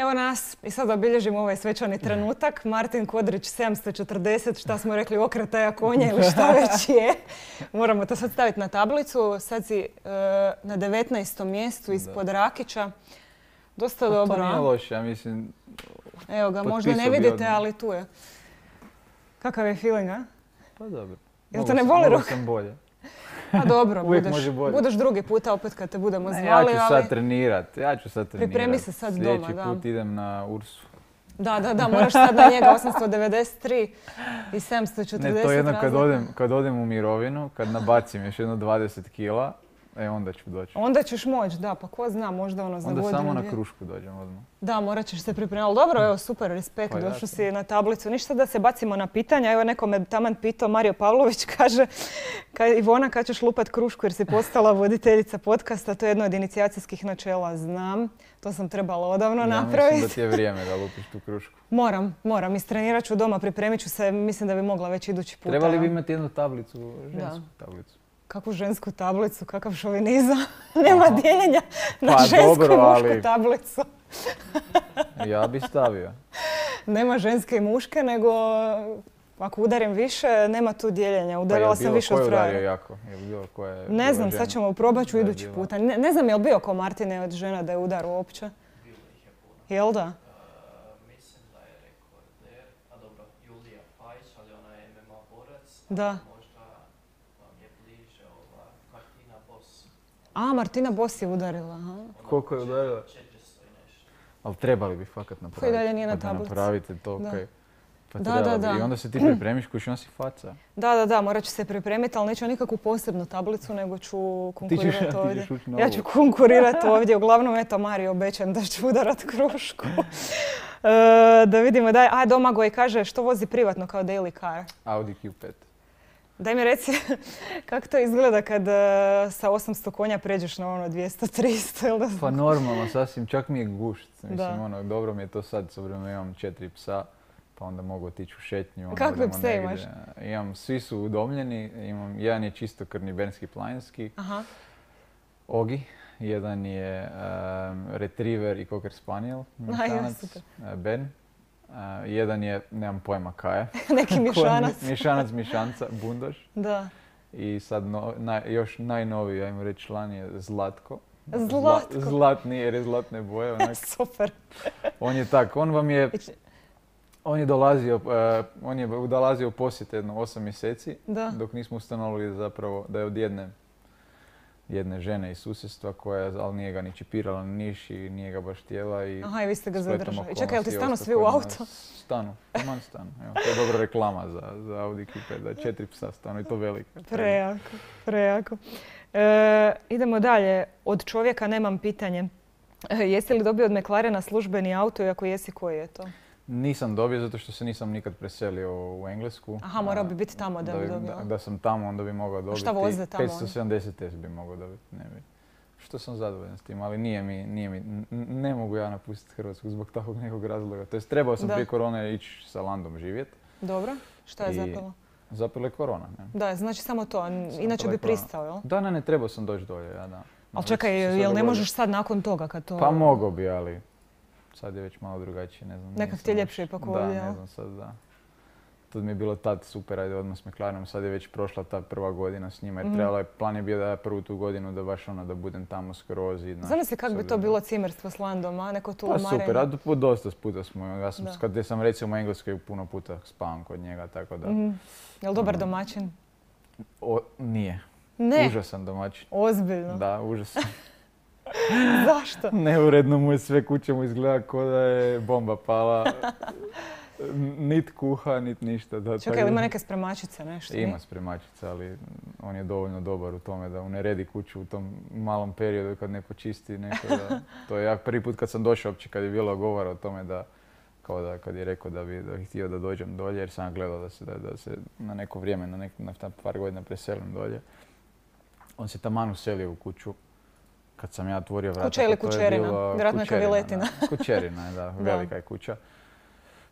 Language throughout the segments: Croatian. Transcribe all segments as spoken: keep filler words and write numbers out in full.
Evo nas i sad obilježimo ovaj svečani trenutak. Martin Kodrić sedamsto četrdeset, šta smo rekli, okretaja konja ili šta već je. Moramo to sad staviti na tablicu. Sad si uh, na devetnaestom mjestu ispod da. Rakića. Dosta pa dobro. To nije loše, ja mislim. Evo ga, možda ne vidite, ali tu je. Kakav je feeling, a? Pa dobro. Jel te ne boli ruka? Mogu sam bolje. Pa dobro, Uvijek budeš, može bolje. budeš drugi puta opet kad te budemo zvali, ali... Ja ću ali... sad trenirat, ja ću sad trenirat. Pripremi se sad doma, da. Sljedeći put idem na Ursu. Da, da, da, moraš sad na njega osamsto devedeset tri i sedamsto četrdeset. Ne, to je jedno kad odem, kad odem u mirovinu, kad nabacim još jedno dvadeset kila, e onda ću doći. Onda ćeš moći, da, pa ko zna, možda ono za onda godinu. Onda samo dvije. na krušku dođem odmah. Da, morat ćeš se pripremiti. Ali dobro, evo, super, respekt, pa došao si na tablicu. Ništa da se bacimo na pitanja. Evo, neko me taman pitao, Mario Pavlović kaže, kaj, Ivona, kad ćeš lupat krušku jer si postala voditeljica podcasta, to je jedno od inicijacijskih načela, znam. To sam trebala odavno ja napraviti. Mislim da ti je vrijeme da lupiš tu krušku. Moram, moram. Istrenirat ću doma, pripremit ću se, mislim da bi mogla već idući puta. Trebali bi imati jednu tablicu, žensku da. tablicu. Kakvu žensku tablicu, kakav šovinizam. Nema Aha. dijeljenja na pa, žensku dobro, i mušku ali... tablicu. Ja bi stavio. Nema ženske i muške, nego ako udarim više, nema tu dijeljenja. Udarila pa sam više od frajera. Je jako? Je bilo ko je ne znam, sad ćemo probat ću idući bila. puta. Ne, ne znam je li bio ko Martine od žena da je udar uopće? Bilo ih je puno. Jel da? Uh, mislim da je rekorder, a dobro, Julija Pajić, ali ona je M M A borac. Da. Možda vam je bliže ova Martina Bos. A, Martina Bos je udarila. Aha. Koliko je udarila? četiristo i nešto. Ali trebali bi fakat napraviti. Koji dalje nije na pa da tablici. napravite to, Da. kaj. Pa Da, trebali da, bi. da. I onda se ti pripremiš kući, on si faca. Da, da, da, morat ću se pripremiti, ali neću nikakvu posebnu tablicu, nego ću konkurirati ovdje. Ja ću konkurirati ovdje. Uglavnom, eto, Mario, obećam da ću udarat krušku. e, da vidimo, daj. A, Domagoj kaže, što vozi privatno kao daily car? Audi Q pet. Daj mi reci, kako to izgleda kad uh, sa osamsto konja pređeš na ono dvjesto tristo, ili da znam? Pa normalno, sasvim, čak mi je gušt. Mislim, Da. ono, dobro mi je to sad, s obzirom da imam četiri psa, pa onda mogu otići u šetnju. Onda Kakve odemo pse negdje. imaš? Imam, svi su udomljeni, imam, jedan je čistokrvni bernski planinski, Aha. Ogi, jedan je um, retriever i cocker spaniel, mišanac, super. uh, Ben. Uh, jedan je, nemam pojma kaj je. Neki mišanac. Mišanac, mišanca, bundoš. Da. I sad no, naj, još najnoviji, ajmo reći, član je Zlatko. Zlatko. Zla, zlatni jer je zlatne boje. Onak. Super. On je tak, on vam je, on je dolazio, uh, on je dolazio u posjet jedno osam mjeseci, Da. dok nismo ustanovili zapravo da je od jedne, jedne žene iz susjedstva koja, ali nije ga ni čipirala ni niš i nije ga baš htjela. I Aha, i vi ste ga spletom zadržali. I čekaj, jel ti okolnosti stanu ostao svi u kod auto? nas. Stanu, taman stanu. Evo, to je dobra reklama za, za Audi Q pet, da četiri psa stanu i to velika. Prejako, prejako. E, idemo dalje. Od čovjeka nemam pitanje. E, jesi li dobio od McLarena službeni auto i ako jesi, koji je to? Nisam dobio zato što se nisam nikad preselio u Englesku. Aha, morao bi biti tamo da bi dobio. Da, da sam tamo, onda bi mogao dobiti. šta voze tamo petsto sedamdeset S bi mogao dobiti, ne bi. Što sam zadovoljan s tim, ali nije mi, nije mi, n- ne mogu ja napustiti Hrvatsku zbog takvog nekog razloga. To jest trebao sam Da. prije korone ići sa Landom živjeti. Dobro. Šta je I zapelo? Zapelo je korona, ne? Da, znači samo to. Inače Zapela bi je korona. pristao, jel? Da, ne, ne, trebao sam doći dolje, ja da. Ali Već čekaj, se sad jel ne dogodilo. možeš sad nakon toga kad to... Pa mogao bi, ali sad je već malo drugačije, ne znam. Nekak nisam ti je baš- ljepše ipak ovdje, Da, jel? ne znam sad, da. To mi je bilo tad super, ajde odmah s McLarenom, sad je već prošla ta prva godina s njima jer Mhm. trebala je, plan je bio da ja prvu tu godinu da baš ono da budem tamo skroz i... znaš, Zamisli kako bi sad to je- bilo cimerstvo s Landom, a neko tu Pa umarenje. super, a do- dosta puta smo, ja sam, Da. kad sam recimo u Engleskoj puno puta spavam kod njega, tako da... Mhm. Jel dobar Mm. domaćin? O, nije. Ne, Užasan domaćin. ozbiljno. Da, užasan. Zašto? Neuredno mu je sve, kuća mu izgleda kao da je bomba pala. Nit kuha, nit ništa. Da, Čekaj, tako ili da- ima neke spremačice, nešto? Ima spremačica, ali on je dovoljno dobar u tome da uneredi kuću u tom malom periodu kad ne počisti neko. Da, to je ja prvi put kad sam došao uopće kad je bilo govora o tome da, kao da kad je rekao da bi, da bi htio da dođem dolje jer sam gledao da se, da, da se na neko vrijeme, na, nek, na par godina preselim dolje. On se taman uselio u kuću. Kad sam ja otvorio vrata, Kuća ili pa to je kućerina? bilo- Vjerojatno je kućerina, kaviletina. da. Kućerina je, da, Da. velika je kuća.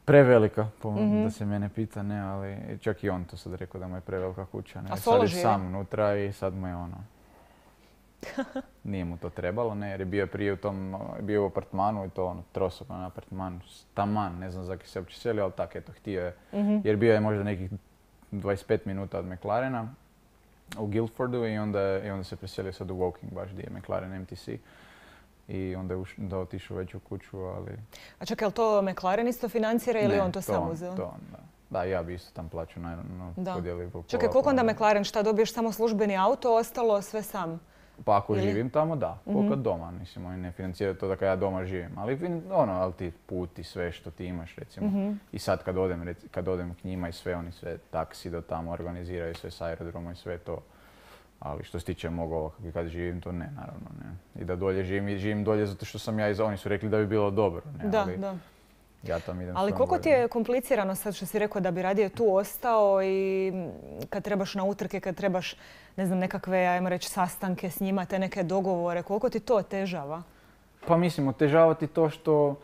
Prevelika, po, Mhm. da se mene pita, ne, ali čak i on to sad rekao da mu je prevelika kuća. Ne. A Sad solo je živi? sam unutra i sad mu je ono, Nije mu to trebalo, ne, jer je bio prije u tom, bio u apartmanu i to ono, trosoban apartman, taman, ne znam za se uopće selio, ali tak, eto, htio je, Mhm. jer bio je možda nekih dvadeset pet minuta od McLarena u Guildfordu i onda, i onda se preselio sad u Woking, baš gdje je McLaren M T C. I onda je uš- da otišao već u kuću, ali... A čekaj, je li to McLaren isto financira ili ne, on to sam uzeo? To on, da. Da, ja bi isto tam plaću naravno Da. podijelio po Čekaj, pola, koliko onda pola. McLaren, šta dobiješ samo službeni auto, ostalo sve sam? Pa ako Ili? živim tamo, da. Koliko Mhm. doma, mislim, oni ne financiraju to da kad ja doma živim. Ali fin- ono, ali ti put i sve što ti imaš, recimo. Mhm. I sad kad odem, rec- kad odem k njima i sve, oni sve taksi do tamo organiziraju, sve s aerodroma i sve to. Ali što se tiče mog ovog, kad živim, to ne, naravno, ne. I da dolje živim, i živim dolje zato što sam ja iz... Oni su rekli da bi bilo dobro, ne, Da, ali da. ja tam idem Ali svojom koliko ti voljom. je komplicirano sad što si rekao da bi radije tu ostao i kad trebaš na utrke, kad trebaš, ne znam, nekakve, ajmo reći, sastanke s njima, te neke dogovore, koliko ti to otežava? Pa mislim, otežava ti to što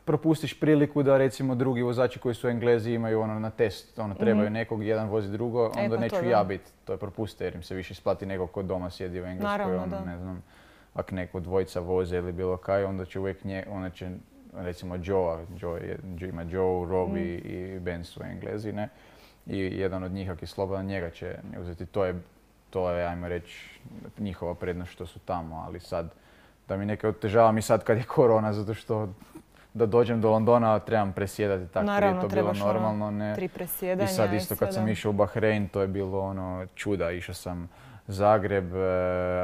propustiš priliku da recimo drugi vozači koji su Englezi imaju ono na test, ono trebaju Mhm. nekog, jedan vozi drugo, E, onda pa neću to da. ja biti, to je propuste jer im se više isplati nego ko doma sjedi u Engleskoj, Naravno, ono, da. ne znam, ako neko dvojica voze ili bilo kaj, onda će uvijek nje, onda će recimo Joe, Joe je, Joe ima Joe, Rob i, Mm. i Ben su Englezi, ne? I jedan od njih ako je slobodan, njega će uzeti, to je, to je, ajmo reći, njihova prednost što su tamo, ali sad, da mi neke otežava mi sad kad je korona, zato što da dođem do Londona trebam presjedati, tako Naravno, je to bilo trebaš ono normalno, ne. Tri presjedanja I sad isto kad sve, sam da. išao u Bahrein, to je bilo ono čuda, išao sam Zagreb, eh,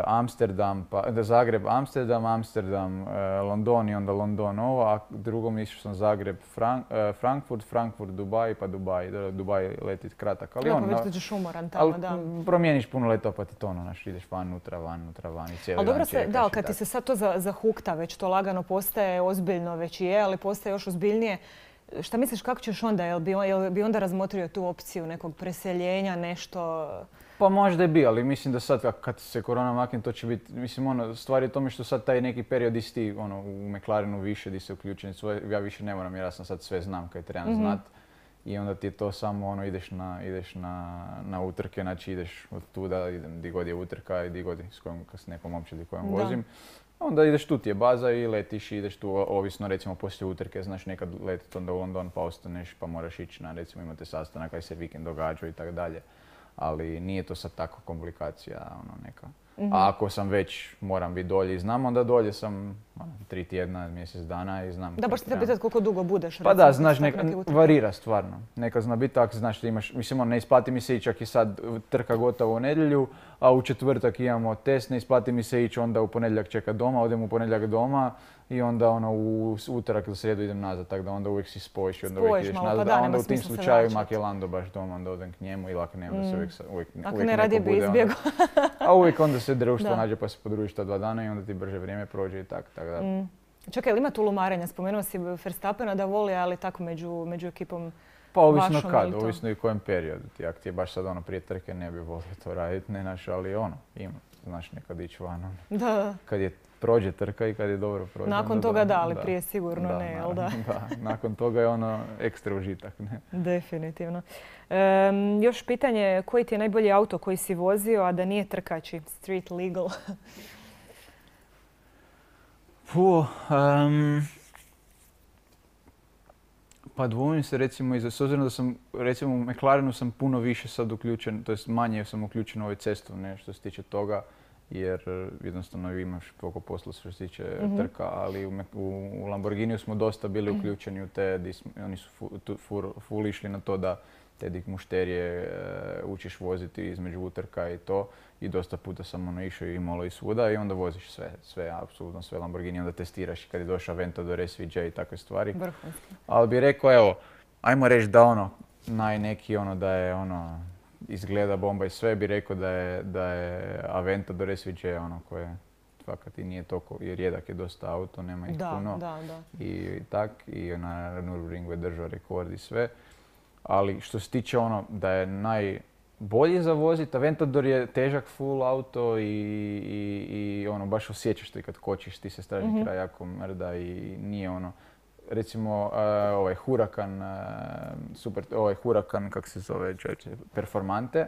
Amsterdam, pa da Zagreb, Amsterdam, Amsterdam, eh, London i onda London ovo, a drugom išao sam Zagreb, Frank, eh, Frankfurt, Frankfurt, Dubaj pa Dubaj, da, Dubaj leti kratak, ali Da, on, pa već na- dođeš umoran tamo, ali da. m, promijeniš puno letova pa ti to ono, znaš, ideš van, unutra, van, unutra, van i cijeli Ali dan dobro se, čekaš da, i kad ti tako. se sad to za- zahukta, već to lagano postaje ozbiljno, već i je, ali postaje još ozbiljnije. Šta misliš, kako ćeš onda? Jel bi, on- jel bi onda razmotrio tu opciju nekog preseljenja, nešto? Pa možda je bio, ali mislim da sad kak- kad se korona makne to će biti, mislim ono, stvar je u tome što sad taj neki period isti ono, u McLarenu više di se uključeni, svoje, ja više ne moram jer ja sam sad sve znam kaj trebam Mhm. znat. I onda ti je to samo ono, ideš na, ideš na, na utrke, znači ideš od tuda, idem di god je utrka i di god je s kojom, s nekom općedi kojom Da. vozim. Onda ideš tu ti je baza i letiš i ideš tu, o- ovisno recimo poslije utrke, znaš nekad letit onda u London pa ostaneš pa moraš ići na recimo imate sastanak kaj se vikend događa i tako dalje. Ali nije to sad tako komplikacija ono neka. Mhm. A ako sam već moram biti dolje i znam, onda dolje sam ono, tri tjedna, mjesec dana i znam. Da, kaj baš te trebam. pitat koliko dugo budeš. Pa recimo, da, kad znaš, su neka, tako neke utrke. varira stvarno. Nekad zna biti tako, znaš da imaš, mislim ono, ne isplati mi se ići ako je sad trka gotova u nedjelju, a u četvrtak imamo test, ne isplati mi se ići onda u ponedjeljak čekat doma, odem u ponedjeljak doma i onda ono u s- utorak ili srijedu idem nazad, tako da onda uvijek si spojiš i onda uvijek Spojiš ideš malo, pa nazad, da, a nema onda u tim smisla se slučajevima vraćat. ako je Lando baš doma, onda odem k njemu ili ako nema da se Mm. uvijek, sa- uvijek, Ako uvijek ne, neko radije bi bude, onda- izbjegao. a uvijek onda se društvo Da. nađe pa se podružiš ta dva dana i onda ti brže vrijeme prođe i tako, tako da. Mm. Čekaj, ili ima tu lumarenja? Spomenuo si Verstappena da voli, ali tako među, među ekipom. Pa ovisno vašom, kad, ili to? ovisno i u kojem periodu. Ti, ako ti je baš sad ono prije trke ne bi volio to raditi, ne znaš, ali ono, ima. Znaš, nekad ići van, ono. Da, da. Kad je prođe trka i kad je dobro prođe. Nakon onda toga da, ali prije sigurno Da, ne, jel da? naravno, da, nakon toga je ono ekstra užitak, ne. Definitivno. Em, još pitanje, koji ti je najbolji auto koji si vozio, a da nije trkači? Street legal. Puh, em, pa dvojim se recimo i za, s obzirom da sam, recimo u McLarenu sam puno više sad uključen, to jest manje sam uključen u ovaj cestovne što se tiče toga, jer eh, jednostavno imaš toliko posla što se tiče Mhm. trka, ali u, Mac- u, u Lamborghiniju smo dosta bili uključeni u te, di smo- oni su fu, tu, fur, full išli na to da te dik mušterije eh, učiš voziti između utrka i to. I dosta puta sam ono išao i malo i svuda i onda voziš sve, sve, apsolutno sve Lamborghini, onda testiraš i kad je došao Aventador, S V J i takve stvari. Vrhunski. Ali bi rekao, evo, ajmo reći da ono, naj neki ono da je ono, izgleda bomba i sve, bi rekao da je, da je Aventador S V J ono koje fakat i nije toliko, jer rijedak je dosta auto, nema ih Da, puno. da, da. I tak, i na Nürburgringu je držao rekord i sve. Ali što se tiče ono da je najbolji za voziti, Aventador je težak full auto i, i, i ono baš osjećaš to i kad kočiš, ti se stražni Mhm. kraj jako mrda i nije ono, recimo uh, ovaj Huracan, uh, super, ovaj Huracan, kak se zove, čovječe, Performante,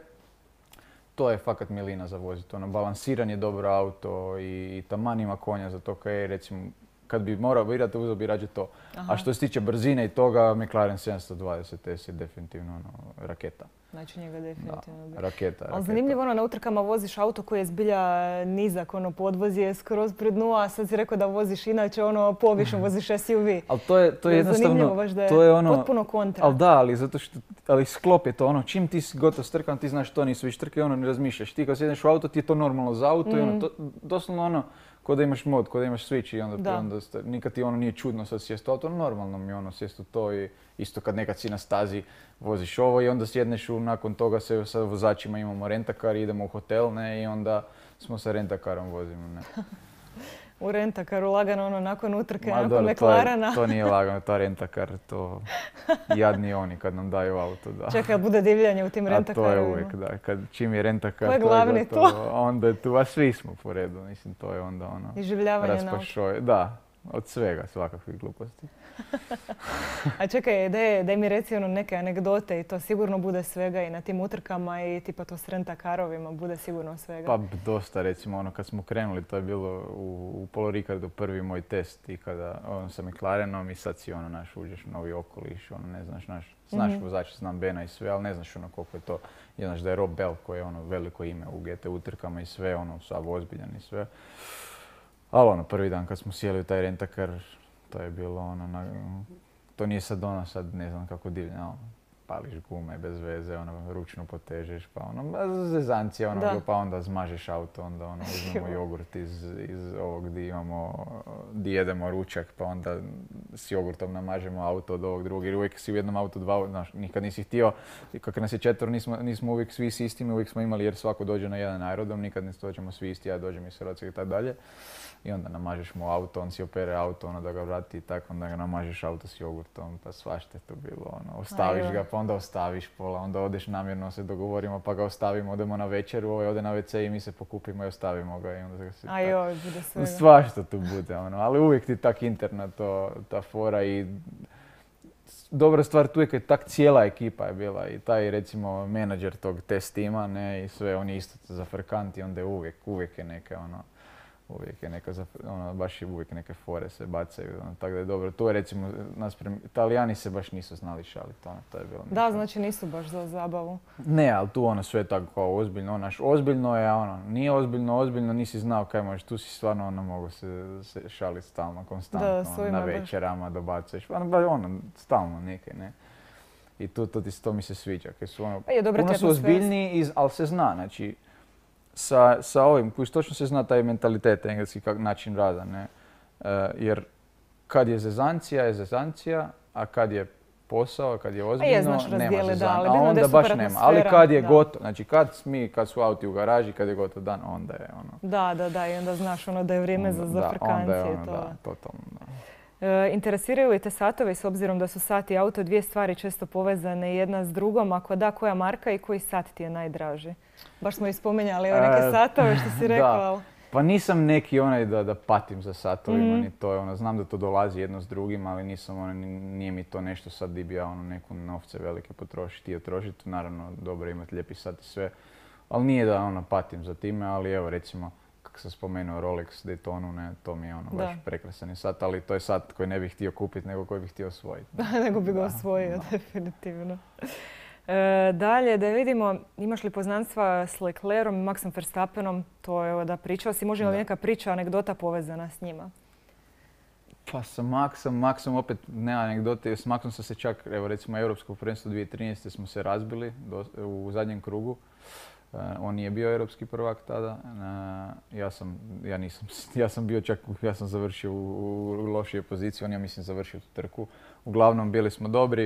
to je fakat milina za voziti. Ono, balansiran je dobro auto i, i taman ima konja za to kaj recimo, kad bi morao birati, uzeo bi rađe to. Aha. A što se tiče brzine i toga, McLaren sedamsto dvadeset S je definitivno ono, raketa. Znači njega definitivno bi. Da, raketa, Ali raketa. zanimljivo ono, na utrkama voziš auto koji je zbilja nizak, ono, podvoz je skroz pred dnu, a sad si rekao da voziš inače ono, povišno, voziš S U V. Ali to je, to je jednostavno, zanimljivo baš da je, to je ono, potpuno kontra. ali da, ali zato što, ali sklop je to ono, čim ti si gotov strkan, ti znaš to nisu više trke, ono ne razmišljaš. Ti kad sjedneš u auto, ti je to normalno za auto mm. i ono, to, doslovno ono, ko da imaš mod, ko da imaš switch i onda, da. onda nikad ti ono nije čudno sad sjest u auto, normalno mi ono sjest u to i isto kad nekad si na stazi voziš ovo i onda sjedneš u, nakon toga se sa vozačima imamo rentakar i idemo u hotel, ne, i onda smo sa rentakarom vozimo, ne. U rentakaru lagano ono nakon utrke, Ma, nakon dobro, McLarena. To, je, to nije lagano, ta rentakar, to jadni oni kad nam daju auto, da. Čekaj, bude divljanje u tim rentakarima. A to je uvijek, da. Kad, čim je rentakar, Ko je to glavni je gotovo, tu? onda je tu, a svi smo po redu, mislim, to je onda ono... Iživljavanje na auto. Raspašoj, da, od svega, svakakvih gluposti. A čekaj, daj, daj mi reci ono neke anegdote i to sigurno bude svega i na tim utrkama i tipa to s rentakarovima bude sigurno svega. Pa dosta, recimo ono kad smo krenuli, to je bilo u, u Polo Ricardu prvi moj test i kada ono sa McLarenom i sad si ono naš uđeš u novi okoliš, ono ne znaš, naš, znaš mm-hmm. vozač, znam Bena i sve, ali ne znaš ono koliko je to, i znaš da je Rob Bell koji je ono veliko ime u G T utrkama i sve, ono sav ozbiljan i sve. Ali ono prvi dan kad smo sjeli u taj rentakar, to je bilo ono, na, to nije sad ono, sad ne znam kako divlja, ono, pališ gume bez veze, ono, ručno potežeš, pa ono, zezancija, ono, da. Pa onda zmažeš auto, onda ono, uzmemo jogurt iz, iz ovog gdje imamo, gdje jedemo ručak, pa onda s jogurtom namažemo auto od ovog drugog, jer uvijek si u jednom autu dva, znaš, nikad nisi htio, kako nas je četvoro, nismo, nismo uvijek svi s istimi, uvijek smo imali jer svako dođe na jedan aerodrom, nikad ne dođemo svi isti, ja dođem iz Hrvatske i tako dalje. I onda namažeš mu auto, on si opere auto, ono da ga vrati i tako, onda ga namažeš auto s jogurtom, pa svašta je to bilo, ono, ostaviš Ajde. ga, pa onda ostaviš pola, onda odeš namjerno, se dogovorimo, pa ga ostavimo, odemo na večeru, ovaj ode na ve ce i mi se pokupimo i ostavimo ga i onda ga se... Ajoj, bude svega. Svašta tu bude, ono, ali uvijek ti tak interna to, ta fora i... Dobra stvar tu je kad tak cijela ekipa je bila i taj recimo menadžer tog test tima, ne, i sve, on je isto zafrkant i onda je uvijek, uvijek je neka, ono, uvijek je neka, ono, baš je uvijek neke fore se bacaju, ono, tako da je dobro. Tu je recimo, naspram, Italijani se baš nisu znali šaliti, ono, to je bilo Da, nešto. Znači nisu baš za zabavu. Ne, ali tu ono sve tako kao ozbiljno, onaš, ozbiljno je, ono, nije ozbiljno, ozbiljno, nisi znao kaj možeš, tu si stvarno, ono, mogu se, se šaliti stalno, konstantno, da, ono, na večerama dobacuješ, ono, ono, stalno neke, ne. I tu, to, to, to mi se sviđa, kaj su, ono, je, puno su ozbiljniji, ali se zna, znači, Sa, sa ovim, koji točno se zna taj mentalitet, engleski kak, način rada, ne? E, jer kad je zezancija, je zezancija, a kad je posao, kad je ozbiljno, je, znaš, nema zezancija, a onda baš nema. Ali kad je gotovo, znači kad mi, kad su auti u garaži, kad je gotov dan, onda je ono... Da, da, da, i onda znaš ono da je vrijeme onda, za zafrkancije. Da, onda je ono, to. da, totalno, da. E, interesiraju li te satovi s obzirom da su sat i auto dvije stvari često povezane jedna s drugom? Ako da, koja marka i koji sat ti je najdraži? Baš smo i spominjali evo neke satove što si rekao. Da. Pa nisam neki onaj da, da patim za satovima, mm. ni to je ono, znam da to dolazi jedno s drugim, ali nisam ono, nije mi to nešto sad di bi ja ono neku novce velike potrošiti i trošiti. Naravno, dobro je imati lijepi sat i sve, ali nije da ono patim za time, ali evo recimo, kako sam spomenuo Rolex Daytonu, ne, to mi je ono baš prekrasan sat, ali to je sat koji ne bih htio kupiti, nego koji bih htio osvojiti. Nego bi ga osvojio, da. Definitivno. E, dalje, da vidimo, imaš li poznanstva s Leclerom i Maxom Verstappenom, to je da pričao si, može li neka priča, anegdota povezana s njima? Pa sa Maxom, Maxom opet ne anegdote, s Maxom sam se čak, evo recimo Europsko prvenstvo dvije tisuće trinaeste smo se razbili do, u zadnjem krugu. Uh, on nije bio europski prvak tada, uh, ja sam, ja nisam, ja sam bio čak, ja sam završio u, u lošije poziciji, on ja mislim završio tu trku. Uglavnom bili smo dobri,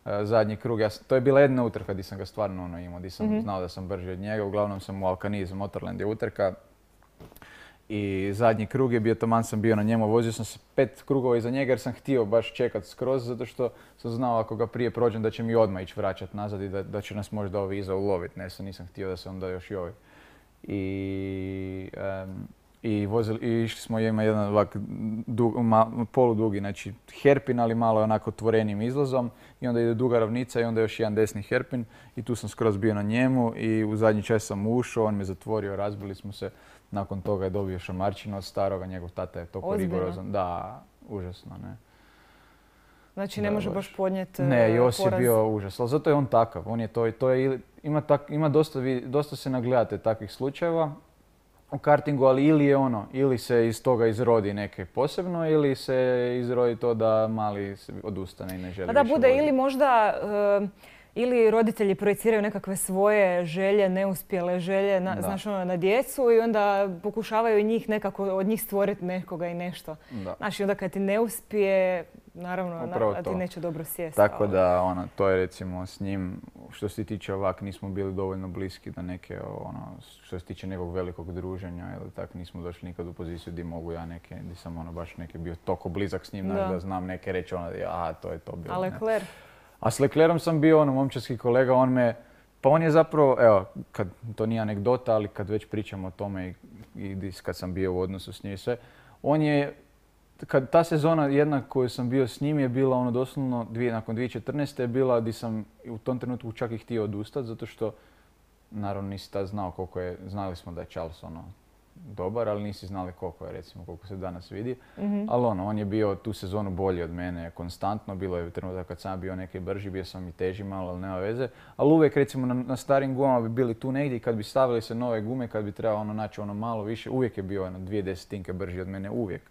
uh, zadnji krug, ja sam, to je bila jedna utrka gdje sam ga stvarno ono imao, gdje sam mm-hmm. znao da sam brži od njega, uglavnom sam u Alcaniz, Motorland je utrka. I zadnji krug je bio, taman sam bio na njemu, vozio sam se pet krugova iza njega jer sam htio baš čekat skroz zato što sam znao ako ga prije prođem da će mi odmah ići vraćat nazad i da, da će nas možda ovi iza uloviti, ne, sam nisam htio da se onda još i ovi. I um, I, vozili, i išli smo, ima jedan ovak dug, ma, poludugi, znači herpin, ali malo onako otvorenim izlazom. I onda ide duga ravnica i onda još jedan desni herpin. I tu sam skroz bio na njemu i u zadnji čas sam ušao, on me zatvorio, razbili smo se. Nakon toga je dobio šamarčinu od staroga, njegov tata je toliko rigorozan. Da, užasno, ne. Znači ne da, može baš, baš podnijeti Ne, Jos je bio užas, ali zato je on takav. On je to, to je, ima, tak, ima dosta, dosta se nagledate takvih slučajeva u kartingu, ali ili je ono, ili se iz toga izrodi neke posebno, ili se izrodi to da mali se odustane i ne želi. Pa da više bude voditi. Ili možda uh, ili roditelji projiciraju nekakve svoje želje, neuspjele želje na, znaš, ono, na djecu i onda pokušavaju i njih nekako od njih stvoriti nekoga i nešto. Da. Znaš, i onda kad ti ne uspije, naravno, na, ti neće dobro sjesti. Tako ali. Da, ono, to je recimo s njim, što se tiče ovak, nismo bili dovoljno bliski da neke, ono, što se tiče nekog velikog druženja ili tak, nismo došli nikad u poziciju gdje mogu ja neke, gdje sam ono baš neke bio toliko blizak s njim, da, da znam neke reći, ono, aha, to je to bilo. A Leclerc? A s Leclercom sam bio ono momčarski kolega, on me, pa on je zapravo, evo, kad, to nije anegdota, ali kad već pričamo o tome i, i kad sam bio u odnosu s njim i sve, on je, kad ta sezona jedna koju sam bio s njim je bila ono doslovno, dvije, nakon dvije tisuće četrnaeste je bila gdje sam u tom trenutku čak i htio odustati, zato što, naravno nisi tad znao koliko je, znali smo da je Charles ono dobar, ali nisi znali koliko je, recimo, koliko se danas vidi. Mm-hmm. Ali ono, on je bio tu sezonu bolji od mene konstantno. Bilo je trenutak kad sam bio neki brži, bio sam i teži malo, ali nema veze. Ali uvijek, recimo, na, na starim gumama bi bili tu negdje i kad bi stavili se nove gume, kad bi trebalo ono naći ono malo više, uvijek je bio ono dvije desetinke brži od mene, uvijek.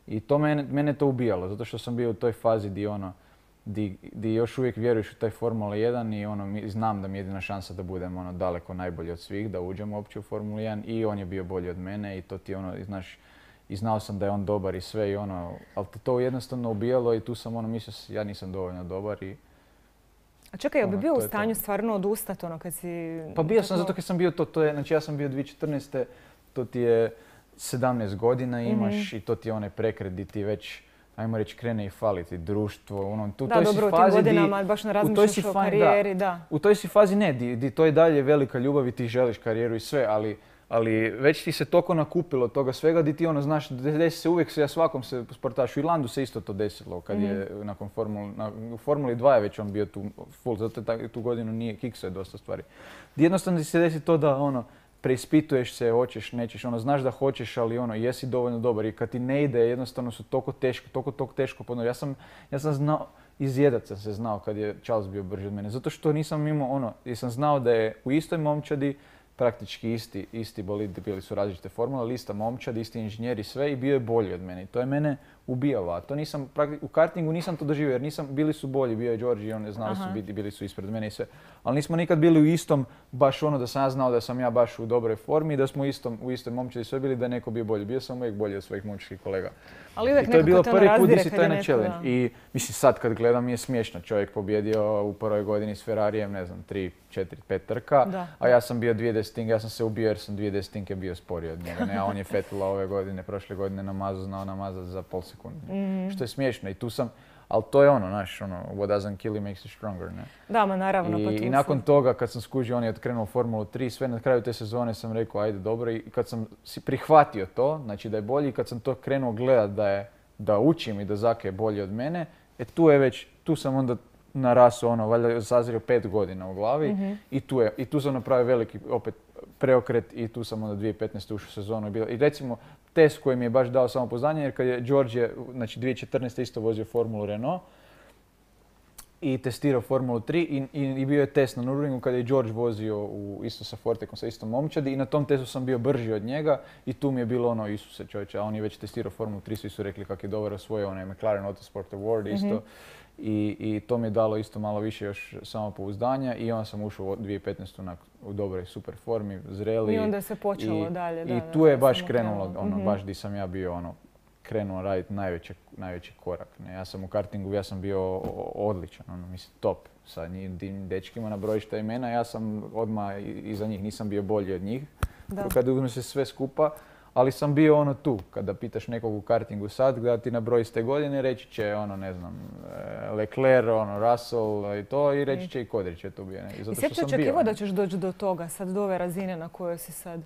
I to mene, mene to ubijalo, zato što sam bio u toj fazi di ono, di, di još uvijek vjeruješ u taj Formula jedan i ono, mi, znam da mi je jedina šansa da budem ono daleko najbolji od svih, da uđem uopće u Formulu jedan i on je bio bolji od mene i to ti ono, i znaš, i znao sam da je on dobar i sve i ono, ali te to jednostavno ubijalo i tu sam ono mislio, ja nisam dovoljno dobar i... A čekaj, jel bi bio u stanju stvarno odustati ono kad si... Pa bio sam, zato kad sam bio to, to je, znači ja sam bio dvije tisuće četrnaeste. To ti je sedamnaest godina imaš mm-hmm. i to ti je onaj prekret di ti već, ajmo reći, krene i faliti društvo. Ono, tu, da, toj dobro, si fazi u tim godinama di, baš ne razmišljaš o karijeri, da. da. U toj si fazi ne, di, di to je dalje velika ljubav i ti želiš karijeru i sve, ali, ali već ti se toliko nakupilo toga svega di ti ono znaš, desi se uvijek se, ja svakom se sportašu, i Landu se isto to desilo kad mm-hmm. je nakon Formuli, na, u Formuli dva je već on bio tu full, zato je tu godinu nije, kikso je dosta stvari. Jednostavno ti se desi to da ono, preispituješ se, hoćeš, nećeš, ono, znaš da hoćeš, ali ono, jesi dovoljno dobar i kad ti ne ide, jednostavno su toliko teško, toliko, toliko teško podno. Ja sam, ja sam znao, izjedat sam se znao kad je Charles bio brži od mene, zato što nisam imao ono, jer sam znao da je u istoj momčadi praktički isti, isti bolidi, bili su različite formule, ali ista momčad, isti inženjer i sve i bio je bolji od mene i to je mene ubijalo, a to nisam, u kartingu nisam to doživio jer nisam, bili su bolji, bio je George i oni znali Aha. su biti, bili su ispred mene i sve, ali nismo nikad bili u istom, baš ono da sam ja znao da sam ja baš u dobroj formi i da smo istom, u istoj momčadi sve bili da je neko bio bolji, bio sam uvijek bolji od svojih momčadskih kolega. Ali uvijek i to je bilo prvi put gdje si taj na challenge i mislim sad kad gledam je smiješno, čovjek pobjedio u prvoj godini s Ferrarijem, ne znam, tri, četiri, pet trka, da. A ja sam bio dvije desetinke, ja sam se ubio jer sam dvije desetinke bio sporiji od njega, ne, a on je Vettela ove godine, prošle godine na mazu znao namazati za pol sekunde. Mm. Što je smiješno i tu sam, ali to je ono, znaš, ono, what doesn't kill you makes you stronger, ne? Da, ma naravno. I, pa tu i nakon toga, kad sam skužio, on je otkrenuo Formulu tri, sve na kraju te sezone sam rekao, ajde, dobro, i kad sam si prihvatio to, znači da je bolji, i kad sam to krenuo gledat da je, da učim i da Zake je bolji od mene, e tu je već, tu sam onda narasao, ono, valjda sazrio pet godina u glavi mm-hmm. i tu je, i tu sam napravio veliki, opet, preokret i tu sam onda dvije tisuće petnaeste ušao u sezonu i, bila, i recimo test koji mi je baš dao samopouzdanje jer kad je George, znači dvije tisuće četrnaeste isto vozio Formulu Renault i testirao Formulu tri i, i, i bio je test na Nürburgringu kad je George vozio u, isto sa Fortekom, sa istom momčadi i na tom testu sam bio brži od njega i tu mi je bilo ono, Isuse čovječe, a on je već testirao Formulu tri, svi su rekli kako je dobar osvojio onaj McLaren Autosport Award isto. Mm-hmm. I, I to mi je dalo isto malo više još samopouzdanja i onda sam ušao u dvije tisuće petnaeste na, u dobroj super formi, zreli. I onda se počelo i, dalje. Da, I da, tu je da, baš krenulo, ono, mm-hmm. baš di sam ja bio ono, krenuo raditi najveći, najveći korak. Ne? Ja sam u kartingu, ja sam bio odličan, ono, mislim top. Sa njim dečkima na brojišta imena, ja sam odmah iza njih, nisam bio bolji od njih. Kada uzme se sve skupa, ali sam bio ono tu, kada pitaš nekog u kartingu sad, da ti nabroji s te godine, reći će ono, ne znam, Leclerc, ono, Russell i to, i reći će i Kodrić je tu bio. Ne? I zato što sam očekivao da ćeš doći do toga, sad do ove razine na kojoj si sad?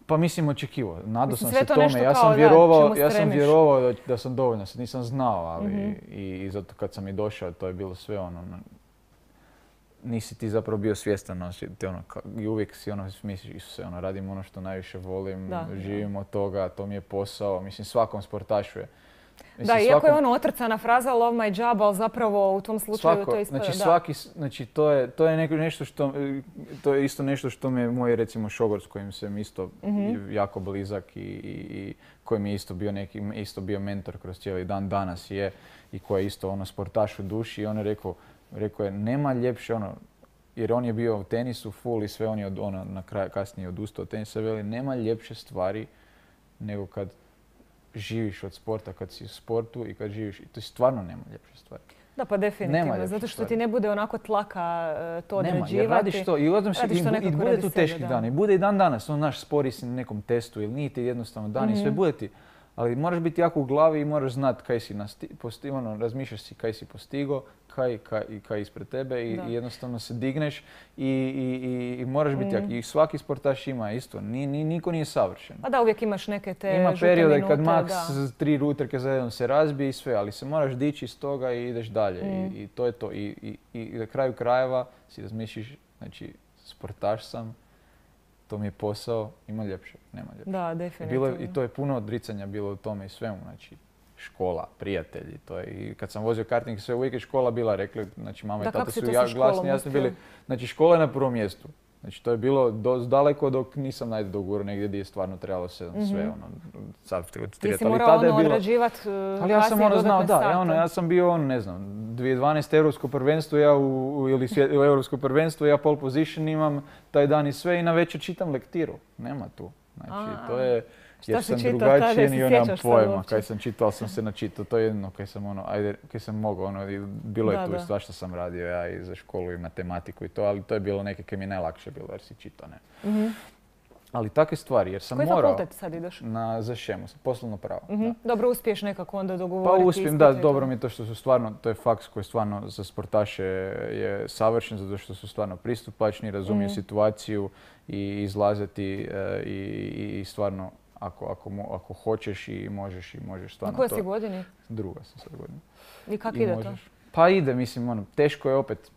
Pa mislim očekivao. Nadao Mislim, sam sve se to tome. nešto Ja kao, sam da, vjerovao, čemu ja sam stremiš. vjerovao da, da sam dovoljno, sad nisam znao, ali Mhm. i, i zato kad sam i došao, to je bilo sve ono, ono, nisi ti zapravo bio svjestan, ono, si- te ono, ka- i uvijek si ono, misliš, Isuse, ono, radim ono što najviše volim, Da, živim od toga, to mi je posao, mislim, svakom sportašu je. Mislim, Da, iako je svakom- ono otrcana fraza love my job, ali zapravo u tom slučaju Svako, to ispada, znači da. svaki, s- znači to je, to je neko, nešto što, to je isto nešto što me moj recimo šogor s kojim sam isto Mhm. jako blizak i, i, i koji mi je isto bio neki, isto bio mentor kroz cijeli dan, danas je i koji je isto ono sportaš u duši i on je rekao, rekao je nema ljepše ono, jer on je bio u tenisu full i sve on je od, ono, na kraju kasnije odustao od tenisa, veli nema ljepše stvari nego kad živiš od sporta, kad si u sportu i kad živiš, i to stvarno nema ljepše stvari. Da, pa definitivno, Nema ljepše zato što stvari. ti ne bude onako tlaka e, to Nema, određivati. jer radiš to i, odem se, Radiš i, to bu- i nekako bude radi tu sebe, teških da. dana. I bude i dan danas, on naš spori si na nekom testu ili nije ti jednostavno dan i sve Mhm. bude ti. Ali moraš biti jako u glavi i moraš znati kaj si nasti, posti, ono, razmišljaš si kaj si postigo, kaj, kaj, i kaj ispred tebe i, Da. i jednostavno se digneš i, i, i, i moraš biti jak. Mhm. I svaki sportaš ima isto, ni, ni, niko nije savršen. A da, uvijek imaš neke te Ima žute perioda minute, kad maks da. tri utrke za jednom se razbije i sve, ali se moraš dići iz toga i ideš dalje. Mm. I, I to je to. I, i, I na kraju krajeva si razmišljiš, znači sportaš sam, to mi je posao, ima ljepše, nema ljepše. Da, Bilo definitivno. je, I to je puno odricanja bilo u tome i svemu, znači škola, prijatelji, to je. I kad sam vozio karting, sve uvijek je škola bila, rekli, znači mama Da, i tata kako si su to sa ja, školom glasni, ja sam uspio? bili, znači škola je na prvom mjestu. Znači to je bilo dosta daleko dok nisam najde dogurao negdje gdje je stvarno trebalo se Mhm. sve ono, sad Ti trijet, si ali morao tada je ono bilo. odrađivati Ali ja sam ono znao, da, sate. ja, ono, ja sam bio on, ne znam, dvije tisuće dvanaeste europsko prvenstvo, ja u, u- ili svje- u europsko prvenstvo, ja pole position imam taj dan i sve i na večer čitam lektiru. Nema tu. Znači, A, to je, šta jer si sam čitao tada, drugačiji jel se i nemam sjećaš sad pojma. uopće? Kaj sam čitao, ali sam se načitao, to je jedno kaj sam ono, ajde, kaj sam mogao, ono, i bilo je Da, tu da. i svašta sam radio ja i za školu i matematiku i to, ali to je bilo neke kaj mi je najlakše bilo jer si čitao, ne. Mhm. Ali takve stvari, jer sam Koji morao fakultet sad ideš? na za šemu, poslovno pravo. Mhm. da. Dobro, uspiješ nekako onda Pa dogovoriti uspijem, da, ispite i to. dobro mi je to što su stvarno, to je faks koji stvarno za sportaše je savršen, zato što su stvarno pristupačni, razumiju Mhm. situaciju i izlaze ti e, i, i, i stvarno ako, ako, mo- ako hoćeš i možeš i možeš Na stvarno kojoj to. si godini? Druga sam sad godina. I kako I ide to? možeš. Pa ide, mislim, ono, teško je opet.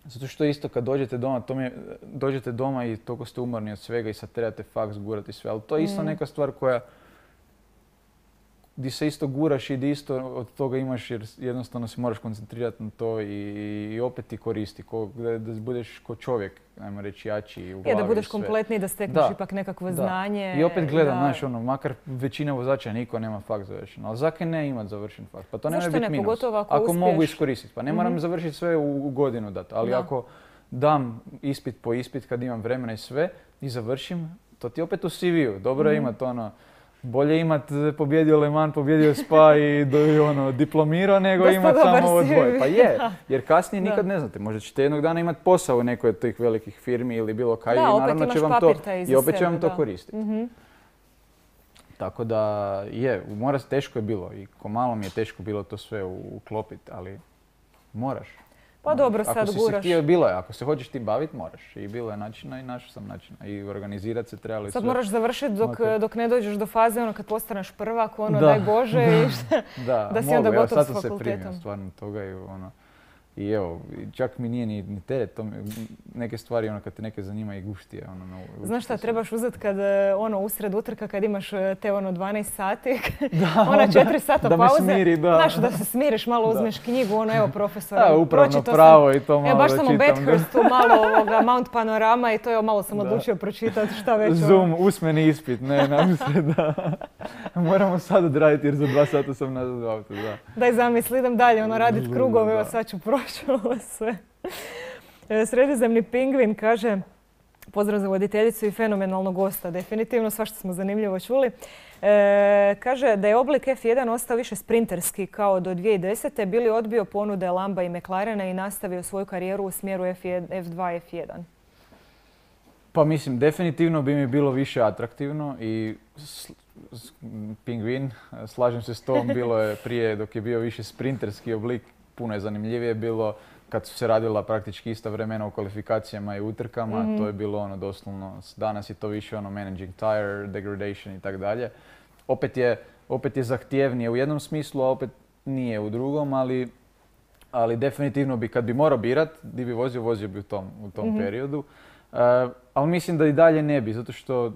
Zato što isto kad dođete doma, to mi je, dođete doma i toliko ste umorni od svega i sad trebate faks gurati sve, ali to je isto Mm. neka stvar koja di se isto guraš i di isto od toga imaš jer jednostavno se moraš koncentrirati na to i, i opet ti koristi, ko, da, da budeš ko čovjek, ajmo reći jači u glavi Je, da budeš i sve. kompletniji, da stekneš Da, ipak nekakvo da. znanje. I opet gledam, da- znaš, ono, makar većina vozača niko nema faks završen, ali zakaj ne imat završen faks? Pa to ne Zašto može biti ne? minus. Pogotovo ako mogu uspiješ. iskoristiti, pa ne moram Mhm. završiti sve u, u godinu dati, ali Da. ako dam ispit po ispit kad imam vremena i sve i završim, to ti opet u C V-u. Dobro je Mhm. imat ono, bolje imat e, pobjedio Le Mans, pobjedio Spa i do, i ono, diplomirao nego Dosta imat dobar samo ovo C V. dvoje. Pa je, Da. jer kasnije Da. nikad ne znate. Možda ćete jednog dana imati posao u nekoj od tih velikih firmi ili bilo kaj Da, i opet naravno će imaš vam to, papir taj iza i opet će sebe, vam to da. koristiti. Mhm. Tako da je, mora, teško je bilo i ko malo mi je teško bilo to sve uklopiti, ali moraš. Pa dobro, Ako sad si se guraš. htio, bilo je. Ako se hoćeš ti baviti, moraš. I bilo je načina i našao sam načina. I organizirati se trebalo i Sad sve. moraš završiti dok, Makar. dok ne dođeš do faze ono kad postaneš prvak, ono Da. daj Bože i šta. Da, da si mogu, onda evo, gotov sad s sam se fakultetom. primio stvarno toga i ono. I evo, i čak mi nije ni, ni teret, to mi, neke stvari ono kad te neke zanima i gušti je ono. Na, Znaš šta, trebaš uzeti kad e, ono usred utrka kad imaš e, te ono dvanaest sati, da, ona onda četiri sata da me pauze. smiri, da. Znaš, da se smiriš, malo Da. uzmeš knjigu, ono evo profesora, Da, upravno pročitao pravo sam. i to malo Evo baš da sam u čitam, da. Bathurstu, malo ovoga Mount Panorama i to je malo sam Da. odlučio pročitati šta već. ono. Zoom, usmeni ispit, ne, nadam se da. Moramo sad odraditi jer za dva sata sam nazad u autu, da. Daj zamisli, idem dalje, ono radit krugove, evo Da. sad ću proći ovo sve. E, Sredozemni pingvin kaže, pozdrav za voditeljicu i fenomenalnog gosta, definitivno, svašta smo zanimljivo čuli. E, kaže da je oblik F jedan ostao više sprinterski kao do dvije tisuće desete. Bili odbio ponude Lamba i McLarena i nastavio svoju karijeru u smjeru F jedan, F dva, F jedan. Pa mislim, definitivno bi mi bilo više atraktivno i s- s- pingvin, slažem se s tom, bilo je prije dok je bio više sprinterski oblik, puno je zanimljivije bilo, kad su se radila praktički ista vremena u kvalifikacijama i utrkama, mm-hmm. to je bilo ono doslovno, danas je to više ono managing tire, degradation i tako dalje. Opet je, opet je zahtjevnije u jednom smislu, a opet nije u drugom, ali, ali definitivno bi, kad bi morao birat, di bi vozio, vozio bi u tom, u tom mm-hmm. periodu. Uh, ali mislim da i dalje ne bi, zato što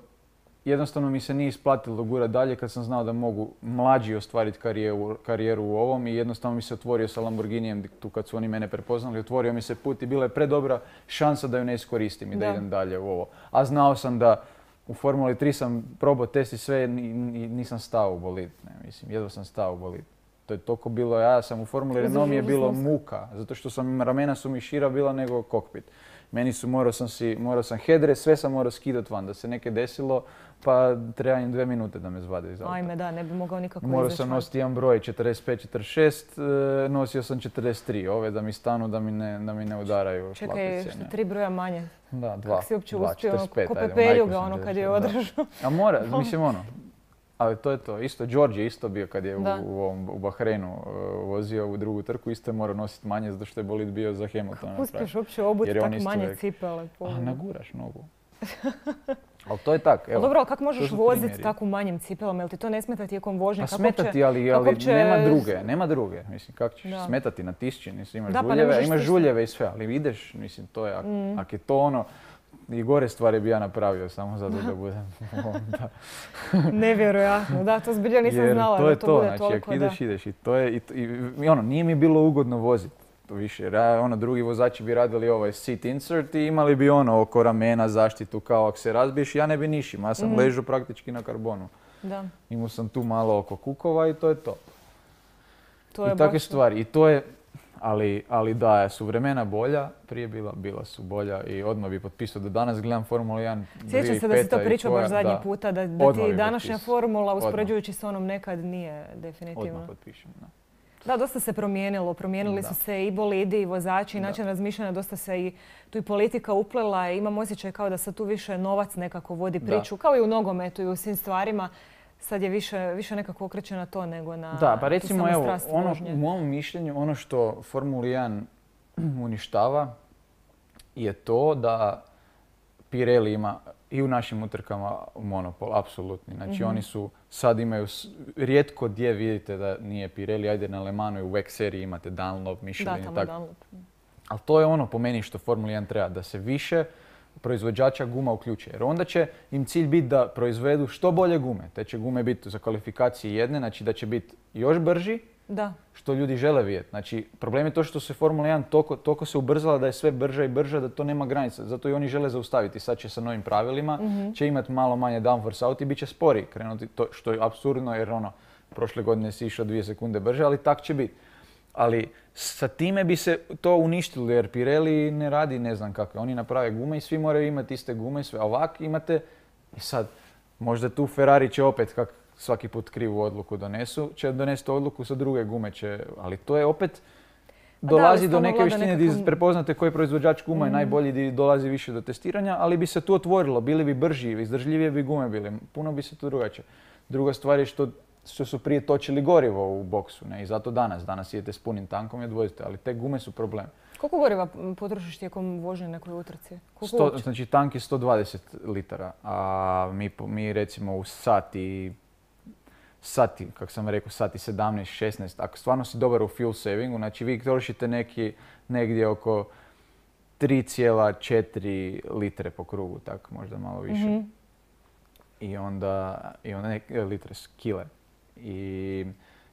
jednostavno mi se nije isplatilo gurati dalje kad sam znao da mogu mlađi ostvariti karijeru, karijeru u ovom i jednostavno mi se otvorio sa Lamborghinijem tu kad su oni mene prepoznali, otvorio mi se put i bila je predobra šansa da ju ne iskoristim i da, da idem dalje u ovo. A znao sam da u Formuli tri sam probao test i sve, nisam stao u bolid, ne, mislim, jedva sam stao u bolid. To je toliko bilo, ja sam u Formuli Renault mi je bilo muka, zato što sam, ramena su mi šira bila nego kokpit. Meni su, morao sam si, morao sam hedre, sve sam morao skidat van, da se neke desilo, pa treba im dve minute da me zvade iz auta. Ajme da, ne bi mogao nikako izaći. Morao sam nositi jedan broj četrdeset pet četrdeset šest, nosio sam četrdeset tri, ove da mi stanu, da mi ne, da mi ne udaraju šlapice. Čekaj, što tri broja manje? Da, dva. Kako si uopće dva, uspio, ko Pepeljuga ono kad je održao. A mora, mislim ono. Ali to je to. Isto, George je isto bio kad je u, u, ovom, u Bahreinu uh, vozio u drugu trku, isto je morao nositi manje zato što je bolid bio za Hamiltona. Kako uspiješ uopće obuti tako manje uvijek... cipele? A naguraš nogu. Ali to je tak. Evo, dobro, ali kako možeš voziti tako manjim cipelama? Jel ti to ne smeta tijekom vožnje? Pa smeta ti, ali, ali će... nema druge. Nema druge. Mislim, kako ćeš da. smetati na tišći? Mislim, imaš da, žuljeve, pa imaš žuljeve i sve, ali ideš, mislim, to je, ako mm. ak je to ono, i gore stvari bi ja napravio samo zato da budem da. Nevjerojatno, da, to zbilja nisam Jer znala to je da to, to bude znači, toliko, da. ideš, ideš i to je, i, i, i ono, nije mi bilo ugodno voziti to više. Jer ja, ono, drugi vozači bi radili ovaj seat insert i imali bi ono oko ramena zaštitu kao ako se razbiješ, ja ne bi nišim, ja sam mm. ležao praktički na karbonu. Da. Imao sam tu malo oko kukova i to je to. to je I takve stvari. I to je, Ali, ali da, su vremena bolja, prije bila, bila su bolja i odmah bi potpisao da danas gledam Formulu jedan, Sjećam se da si to pričao baš zadnji da, puta, da, da ti današnja potpis. formula uspoređujući s onom nekad nije definitivno. Odmah potpišem, da. Da, dosta se promijenilo. Promijenili da. su se i bolidi i vozači i način razmišljanja, dosta se i tu i politika uplela i imam osjećaj kao da se tu više novac nekako vodi priču, da. kao i u nogometu i u svim stvarima. Sad je više, više nekako okreće na to nego na da, pa recimo, tu evo, ono, vožnje. U mom mišljenju, ono što Formula jedan uništava je to da Pirelli ima i u našim utrkama monopol, apsolutni. Znači mm-hmm. oni su, sad imaju, rijetko gdje vidite da nije Pirelli, ajde na Le Manu i u W E C seriji imate Dunlop, Michelin i tako. Ali to je ono po meni što Formula jedan treba, da se više proizvođača guma uključuje. Jer onda će im cilj biti da proizvedu što bolje gume. Te će gume biti za kvalifikacije jedne, znači da će biti još brži, da. Što ljudi žele vidjeti. Znači, problem je to što se Formula jedan toliko, toliko se ubrzala da je sve brža i brža, da to nema granica. Zato i oni žele zaustaviti. Sad će sa novim pravilima, mm-hmm. će imati malo manje downforce auto i bit će spori krenuti, to, što je apsurdno jer ono, prošle godine si išao dvije sekunde brže, ali tak će biti. Ali sa time bi se to uništilo jer Pirelli ne radi ne znam kakve. Oni naprave gume i svi moraju imati iste gume i sve. A ovak imate, i sad možda tu Ferrari će opet, kak svaki put krivu odluku donesu, će donesti odluku sa druge gume će, ali to je opet dolazi da, do neke vještine gdje nekako... prepoznate koji proizvođač guma je mm. najbolji, gdje dolazi više do testiranja, ali bi se tu otvorilo, bili bi brži, izdržljivije bi gume bili, puno bi se tu drugačije. Druga stvar je što što su prije točili gorivo u boksu, ne? I zato danas. Danas idete s punim tankom i odvozite, ali te gume su problem. Koliko goriva potrošiš tijekom vožnje nekoj utrci? sto, znači tank je sto dvadeset litara, a mi, mi recimo u sati, sati, kako sam rekao, sati sedamnaest šesnaest, ako stvarno si dobar u fuel savingu, znači vi trošite neki, negdje oko tri zarez četiri litre po krugu, tako možda malo više. Mm-hmm. I onda, i onda neke litre, kile. I,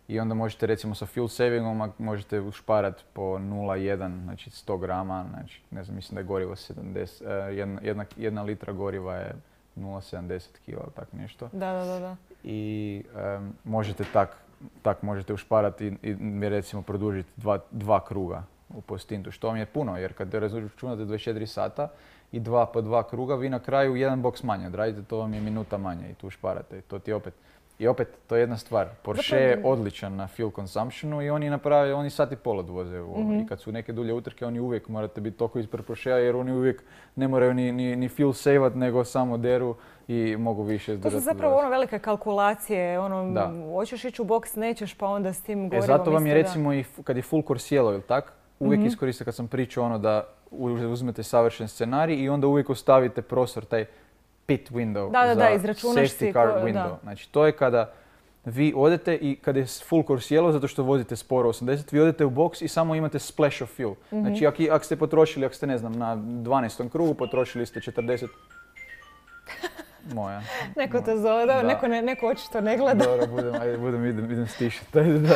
I onda možete recimo sa fuel savingom možete ušparati po nula zarez jedan, znači sto grama, znači ne znam, mislim da je gorivo sedamdeset, jedna, jedna, jedna litra goriva je nula zarez sedamdeset kila, tak nešto. Da, da, da. da. I um, možete tak, tak možete ušparati i, i recimo produžiti dva, dva kruga po stintu, što vam je puno, jer kad računate dvadeset četiri sata i dva po dva kruga, vi na kraju jedan boks manje odradite, to vam je minuta manje i tu šparate. I to ti opet, i opet, to je jedna stvar. Porsche je odličan na fuel consumptionu i oni naprave, oni sat i pol odvoze u ovo. Mm-hmm. I kad su neke dulje utrke, oni uvijek morate biti toliko ispred Porschea jer oni uvijek ne moraju ni, ni, ni fuel savat, nego samo deru i mogu više izdržati. To su zapravo ono velike kalkulacije, ono, da. Hoćeš ići u boks, nećeš, pa onda s tim gorivom. E, zato vam je recimo da. I kad je full course yellow, ili tak? uvijek Mhm. iskoristite kad sam pričao ono da uzmete savršen scenarij i onda uvijek ostavite prostor, taj pit window Da, da, za da, izračunaš safety si car ko- window. da. Znači to je kada vi odete i kada je full course yellow zato što vozite sporo osamdeset, vi odete u boks i samo imate splash of fuel. Mhm. Znači ako, ako ste potrošili, ako ste ne znam na dvanaestom krugu potrošili ste četrdeset... Moja. Neko te moja. zove, da, Da. neko, ne, neko očito ne gleda. Dobro, budem, ajde, budem, idem, idem stišati. Ajde, da.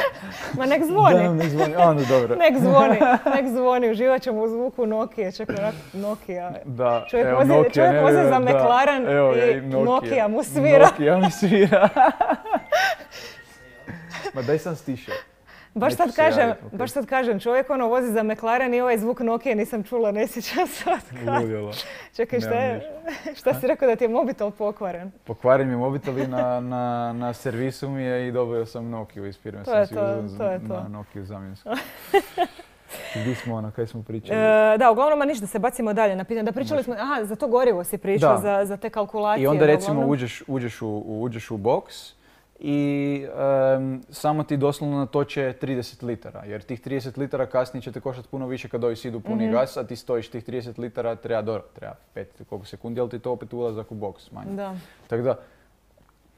Ma nek zvoni. Da, ne zvoni. Onda dobro. Nek zvoni, nek zvoni, uživat ćemo u zvuku Nokia, čekaj, onak Nokia. Da, Čovjek evo, vozi, Nokia, čovjek ne vozi za vjerujem, da. McLaren Evo ga, i Nokia mu svira. Nokia mi svira. Ma daj sam stišao. Baš Neću sad se kažem, javiti, ok. baš sad kažem, čovjek ono vozi za McLaren i ovaj zvuk Nokia nisam čula, ne sjećam se od kad. Ludilo. Čekaj, šta, Nemam je, šta si rekao da ti je mobitel pokvaren? Pokvarim mi mobitel i na, na, na servisu mi je i dobio sam Nokiju iz firme. To sam je si to, uzeo to je to. Na Nokiju zamjensku. Gdje smo ono, kaj smo pričali? E, da, uglavnom, ma ništa, se bacimo dalje na pitanje. Da pričali smo, aha, za to gorivo si pričao, Da. za, za te kalkulacije. I onda da, recimo uglavnom- uđeš, uđeš, u, u- uđeš u boks i em, samo ti doslovno natoče trideset litara. Jer tih trideset litara kasnije će te koštati puno više kad ovi idu puni Mhm. gas, a ti stojiš tih trideset litara, treba dobro, treba pet koliko sekundi, ali ti to opet ulazak u boks manje. Da. Tako da,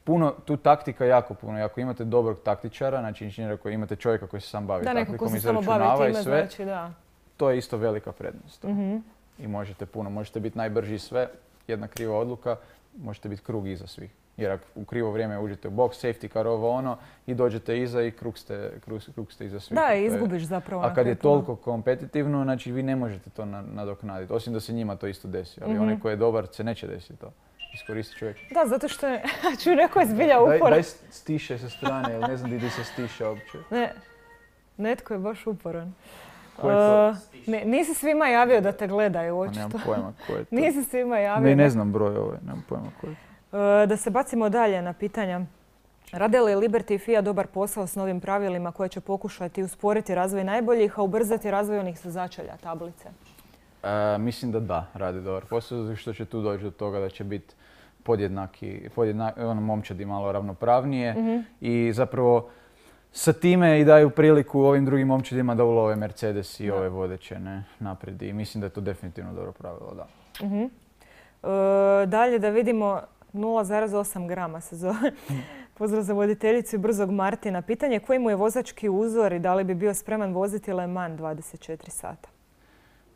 puno, tu taktika jako puno. I ako imate dobrog taktičara, znači inženjera koji imate čovjeka koji se sam bavi Da, neko ko taktikom, se samo bavi izračunava i time, sve, znači da. to je isto velika prednost. Mhm. I možete puno, možete biti najbrži sve, jedna kriva odluka, možete biti krug iza svih. Jer ako u krivo vrijeme uđete u box, safety car ovo ono i dođete iza i krug ste, krug, krug ste iza svih. Da, To i je- izgubiš zapravo. A na kad je kraju puno. toliko kompetitivno, znači vi ne možete to na- nadoknaditi, osim da se njima to isto desi. Ali Mhm. onaj koji je dobar se neće desiti to. Iskoristi čovjek. Da, zato što je, čuj, neko je zbilja Daj, uporan. daj stiše sa strane, jer ne znam di, di se stiše uopće. Ne, netko je baš uporan. Ko je to? Uh, ne, nisi svima javio da te gledaju, Pa nemam očito. pojma ko je to. Nisi svima javio. Ne, da- ne znam broj ovaj, nemam pojma ko je. Uh, da se bacimo dalje na pitanja. Rade li Liberty i F I A dobar posao s novim pravilima koje će pokušati usporiti razvoj najboljih, a ubrzati razvoj onih sa začelja tablice? E, mislim da da, radi dobar posao, zato što će tu doći do toga da će biti podjednaki, podjednaki, ono, momčadi malo ravnopravnije Mhm. i zapravo sa time i daju priliku ovim drugim momčadima da ulove Mercedes i Da. ove vodeće ne, naprijed i mislim da je to definitivno dobro pravilo, da. Mhm. Uh, dalje da vidimo nula zarez osam grama se zove. Pozdrav za voditeljicu i brzog Martina. Pitanje je koji mu je vozački uzor i da li bi bio spreman voziti Le Mans dvadeset četiri sata?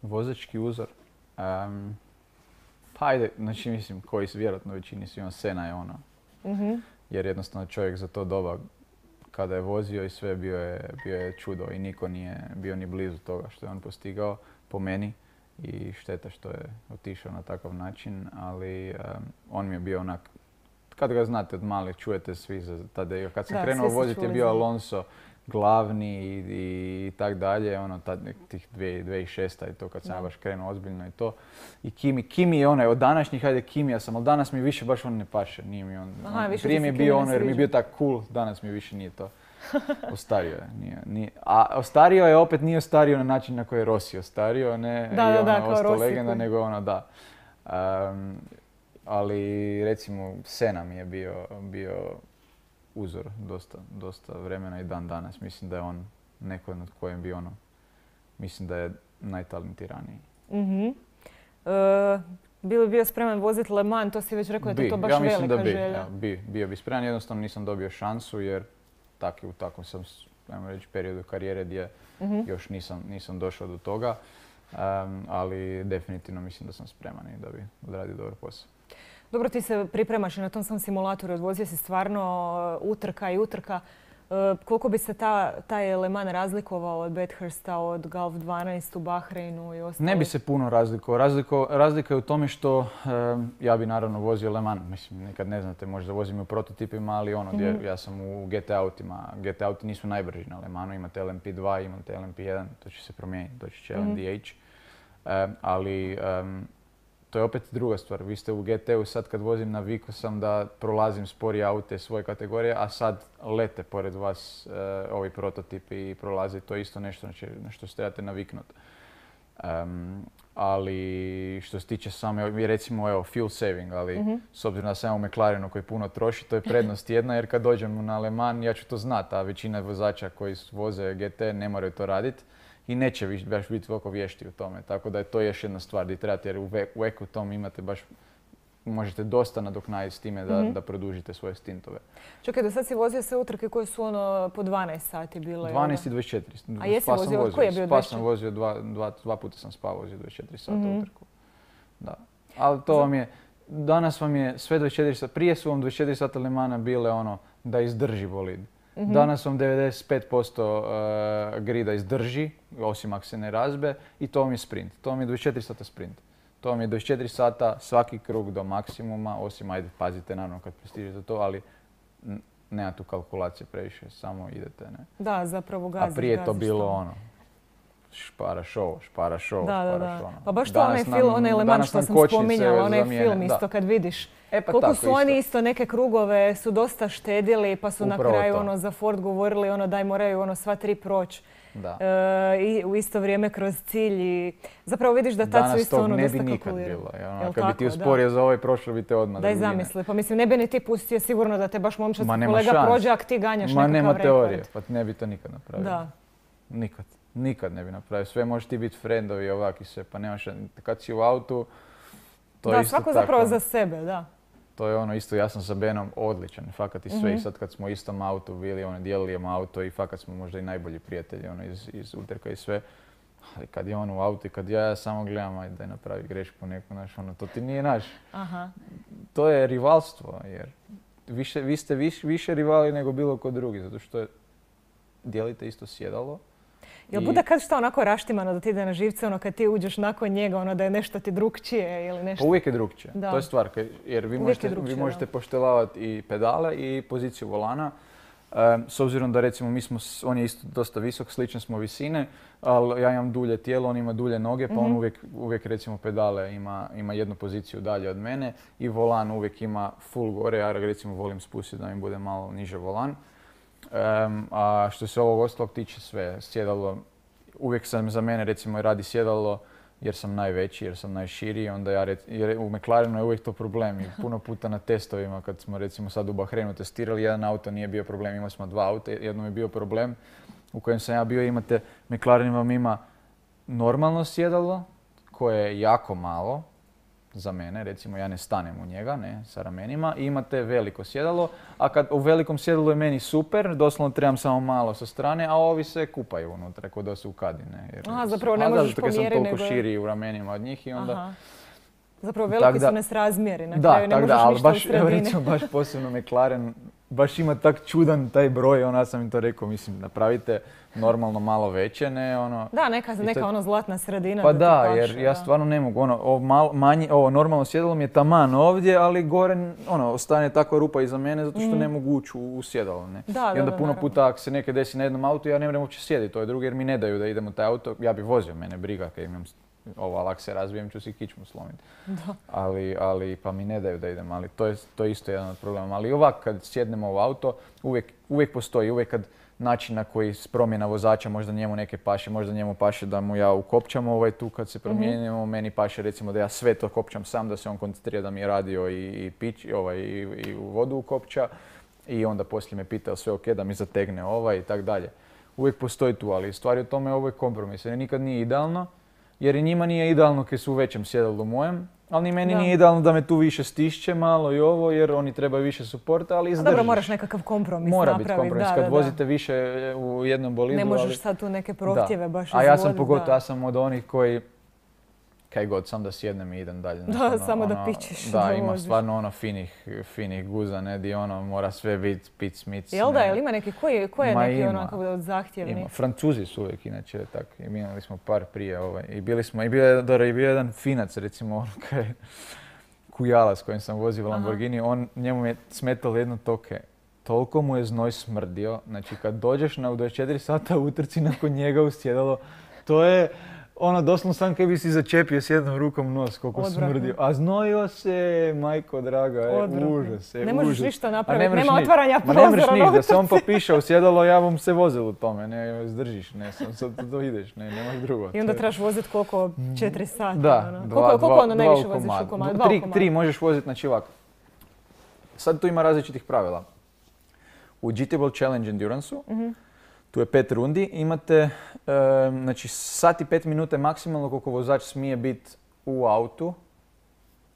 Vozački uzor. Em, pa ajde, znači mislim koji su vjerojatno većini svima Sena je ono. Mhm. Jer jednostavno čovjek za to doba kada je vozio i sve bio je, bio je čudo i niko nije bio ni blizu toga što je on postigao po meni i šteta što je otišao na takav način, ali em, on mi je bio onak, kad ga znate od malih, čujete svi za tada, kad sam Da, krenuo svi su voziti je čuli bio za- Alonso glavni i, i, i tak dalje, ono, tad, nek- tih dvije tisuće šest i to kad sam Da. ja baš krenuo ozbiljno i to. I Kimi, Kimi je onaj, od današnjih, hajde Kimija sam, ali danas mi više baš on ne paše, nije mi on. Aha, on- više prije ti mi je se bio Kimi ne ono jer mi je sviđa. bio tak cool, danas mi više nije to. Ostario je, nije, nije. A ostario je opet nije ostario na način na koji je Rossi ostario, ne Da, i da, ono, da, kao ostao Rossi legenda, koji- nego ono da. Um, ali recimo Sena mi je bio, bio uzor dosta, dosta vremena i dan danas. Mislim da je on neko nad kojim bi ono, mislim da je najtalentiraniji. Mhm. E, bi li bio spreman voziti Le Mans? To si već rekao da je Bi, to baš ja mislim velika da bi, želja. ja, bi, bio bi spreman, jednostavno nisam dobio šansu jer tak, u takvom sam, ajmo reći, periodu karijere gdje Mhm. još nisam, nisam došao do toga, um, ali definitivno mislim da sam spreman i da bi odradio dobar posao. Dobro, ti se pripremaš i na tom sam simulatoru, odvozio si stvarno uh, utrka i utrka. Uh, koliko bi se ta, taj Le Mans razlikovao od Bathursta, od Golf dvanaest u Bahreinu i ostalo? Ne bi se puno razlikovao. Razliko, razlika je u tome što um, ja bi naravno vozio Le Mans. Mislim, nekad ne znate, možda vozim u prototipima, ali ono, gdje Mhm. ja sam u G T autima. G T auti nisu najbrži na Le Mansu, imate L M P dva, imate L M P jedan, to će se promijeniti, doći će Mhm. L M D H. Um, ali um, to je opet druga stvar. Vi ste u G T-u, sad kad vozim navikao sam da prolazim sporije aute svoje kategorije, a sad lete pored vas uh, ovi prototipi i prolaze. To je isto nešto na če- na što se trebate naviknuti. Um, ali što se tiče same, recimo evo, fuel saving, ali Mhm. s obzirom da sam ja u McLarenu koji puno troši, to je prednost jedna jer kad dođem na Le Mans ja ću to znati, a većina vozača koji voze G T ne moraju to raditi i neće viš, baš biti toliko vješti u tome. Tako da je to još jedna stvar gdje trebate, jer u, ve, u eku tom imate baš, možete dosta nadoknaditi s time da, mm-hmm. da produžite svoje stintove. Čekaj, do sad si vozio sve utrke koje su ono po dvanaest sati bile? dvanaest i dvadeset četiri. A jesi vozio? Od koji je bio dvadeset četiri? Spa sam vozio, dva, dva, dva puta sam spa vozio dvadeset četiri sata mm-hmm. utrku. Da. Ali to vam je, danas vam je sve dvadeset četiri sata, prije su vam dvadeset četiri sata Le Mana bile ono da izdrži bolid. Mm-hmm. Danas vam devedeset pet posto uh, grida izdrži, osim ako se ne razbe, i to vam je sprint. To vam je dvadeset četiri sata sprint. To vam je dvadeset četiri sata svaki krug do maksimuma, osim, ajde, pazite naravno kad prestižete to, ali n- nema tu kalkulacije previše, samo idete, ne. Da, zapravo gaziš. A prije je to gaziš bilo tamo. ono, špara show, špara show, da, špara da, da. show. Ono. Pa baš to onaj film, onaj Le Mans što sam spominjala, onaj film isto kad vidiš. E, pa koliko tako, su oni isto. isto neke krugove su dosta štedili, pa su Upravo na kraju to. ono za Ford govorili ono daj moraju ono sva tri proći. Da. E, i u isto vrijeme kroz cilj i zapravo vidiš da tad su isto ono dosta kalkulirali. Danas tog ne bi nikad bilo. Ono, kad tako, bi ti usporio za ovaj, prošlo bi te odmah. Daj drugine. zamisli, pa mislim ne bi ni ti pustio sigurno da te baš momčadski Ma, kolega šans. prođe, ak ti ganjaš Ma nekakav nema rekord. teorije, pa ne bi to nikad napravio. Da. Nikad. Nikad ne bi napravio. Sve možeš ti biti friendovi i ovak i sve, pa nemaš, kad si u autu, to da, je isto svako tako. zapravo za sebe, da. To je ono isto, ja sam sa Benom odličan, fakat i sve. Mm-hmm. I sad kad smo u istom autu bili, ono, dijelili auto i fakat smo možda i najbolji prijatelji ono, iz, iz utrka i sve. Ali kad je on u autu i kad ja, ja samo gledam, ajde daj napravi grešku neku, znaš, ono, to ti nije naš. Aha. To je rivalstvo, jer više, vi ste viš, više rivali nego bilo ko drugi, zato što je, dijelite isto sjedalo. Jel I- bude kad šta onako raštimano da ti ide na živce, ono kad ti uđeš nakon njega, ono da je nešto ti drukčije ili nešto? Pa uvijek je drukčije, Da. to je stvar, kaj- jer vi Uvijek možete, je drukčije, vi možete da. poštelavati i pedale i poziciju volana. Um, s obzirom da recimo mi smo, s- on je isto dosta visok, slične smo visine, ali ja imam dulje tijelo, on ima dulje noge, pa on Mhm. uvijek, uvijek recimo pedale ima, ima jednu poziciju dalje od mene i volan uvijek ima full gore, ja ga recimo volim spustiti da mi bude malo niže volan. Um, a što se ovog ostalog tiče sve, sjedalo, uvijek sam za mene recimo radi sjedalo jer sam najveći, jer sam najširiji, onda ja rec, jer u McLarenu je uvijek to problem i puno puta na testovima kad smo recimo sad u Bahreinu testirali, jedan auto nije bio problem, imali smo dva auta, jednom je bio problem u kojem sam ja bio, imate, McLaren vam ima normalno sjedalo koje je jako malo za mene, recimo ja ne stanem u njega, ne, sa ramenima, i imate veliko sjedalo, a kad u velikom sjedalu je meni super, doslovno trebam samo malo sa strane, a ovi se kupaju unutra, kod da su u kadine. Jer, Aha, zapravo ne a da, možeš zato kad sam pomjeriti, toliko nego je- širi u ramenima od njih i onda... Aha. Zapravo veliki Tak da- su nesrazmjeri, na Da, kraju ne tak možeš da, ali ništa u baš, evo sredini. recimo, baš posebno McLaren, baš ima tak čudan taj broj, ono, ja sam im to rekao, mislim, napravite normalno malo veće, ne, ono... Da, neka, I to- neka ono zlatna sredina Pa da, da, ti paše, jer ja da. stvarno ne mogu, ono, ovo, mal, manji, ovo normalno sjedalo mi je taman ovdje, ali gore, ono, ostane takva rupa iza mene zato što Mhm. ne mogu ući u, u sjedalo, ne. Da, I da, onda da, puno naravno. puta ako se nekaj desi na jednom autu, ja ne moram uopće sjediti, to je drugi jer mi ne daju da idem u taj auto, ja bi vozio, mene briga kad imam s- ovo, ali ako se razbijem ću si kičmu slomiti. Da. Ali, ali, pa mi ne daju da idem, ali to je, to je isto jedan od problema. Ali ovak kad sjednemo u auto, uvijek, uvijek postoji, uvijek kad način na koji s promjena vozača, možda njemu neke paše, možda njemu paše da mu ja ukopčam ovaj tu kad se promijenimo, meni paše recimo da ja sve to kopčam sam, da se on koncentrira da mi je radio i, i, pić, ovaj, i, i u vodu ukopča i onda poslije me pita jel sve ok, da mi zategne ovaj i tak dalje. Uvijek postoji tu, ali stvar je u tome ovo je kompromis, jer nikad nije idealno, jer i njima nije idealno kad su u većem sjedalu mojem, ali ni meni Da. nije idealno da me tu više stišće malo i ovo, jer oni trebaju više suporta, ali A izdržiš. dobro, moraš nekakav kompromis Mora napraviti. biti kompromis da, kad da, vozite više u jednom bolidu. Ne možeš ali... sad tu neke Da. prohtjeve baš A ja sam izvoditi, pogotovo, da. ja sam od onih koji kaj god, sam da sjednem i idem dalje. Znaš, Da, samo da pičeš, Da, da ima voziš. stvarno ono finih, finih guza, ne, di ono mora sve biti pic, mic. Jel da, ne. jel ima neki, koji, je- koji je Ma neki ima. onako od zahtjevni? Ima. Francuzi su uvijek inače tak. Imali smo par prije ovaj. I bili smo, i bio je, dobro, i bio je jedan Finac recimo, ono kaj Kujala s kojim sam vozio Aha. Lamborghini, on, njemu je smetalo jedno toke. Toliko mu je znoj smrdio, znači kad dođeš na u dvadeset četiri sata utrci nakon njega u sjedalo, to je ono doslovno sam kaj bi si začepio s jednom rukom nos koliko Odvratno. smrdio. A znojio se, majko draga, e, Odvratno. užas, e, Ne možeš užas. ništa A napraviti, mreš nema niš. otvaranja Ma ne mreš prozora niš, na da se on utrci. popiša u sjedalo, ja bom se vozil u tome, ne, zdržiš, ne, sam, sad to ideš, ne, nemaš drugo. I onda To je- trebaš voziti koliko? Četiri sata? Da, ono. dva, koliko, koliko dva- ono dva najviše u voziš u komadu. komadu? Dva u Tri, komadu. tri možeš voziti, znači ovako. Sad tu ima različitih pravila. U G T World Challenge Endurance-u Mhm. Tu je pet rundi, imate e, znači sat i pet minuta je maksimalno koliko vozač smije biti u autu.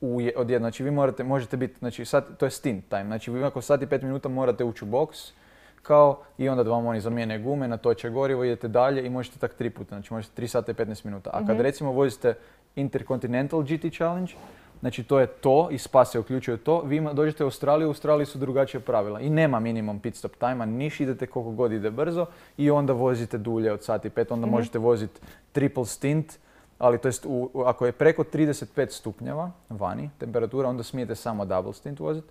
U je, odjedno, znači vi morate, možete biti, znači sat, to je stint time, znači vi ako sat i pet minuta morate ući u boks, kao i onda da vam oni zamijene gume, natoče gorivo, idete dalje i možete tak tri puta, znači možete tri sata i petnaest minuta. A kad Mhm. recimo vozite Intercontinental G T Challenge, znači to je to i Spa se uključuje to, vi ima- dođete u Australiju, u Australiji su drugačije pravila i nema minimum pit stop time-a, niš idete koliko god ide brzo i onda vozite dulje od sat i pet, onda Mhm. možete voziti triple stint, ali to jest u, u- ako je preko trideset pet stupnjeva vani temperatura, onda smijete samo double stint voziti.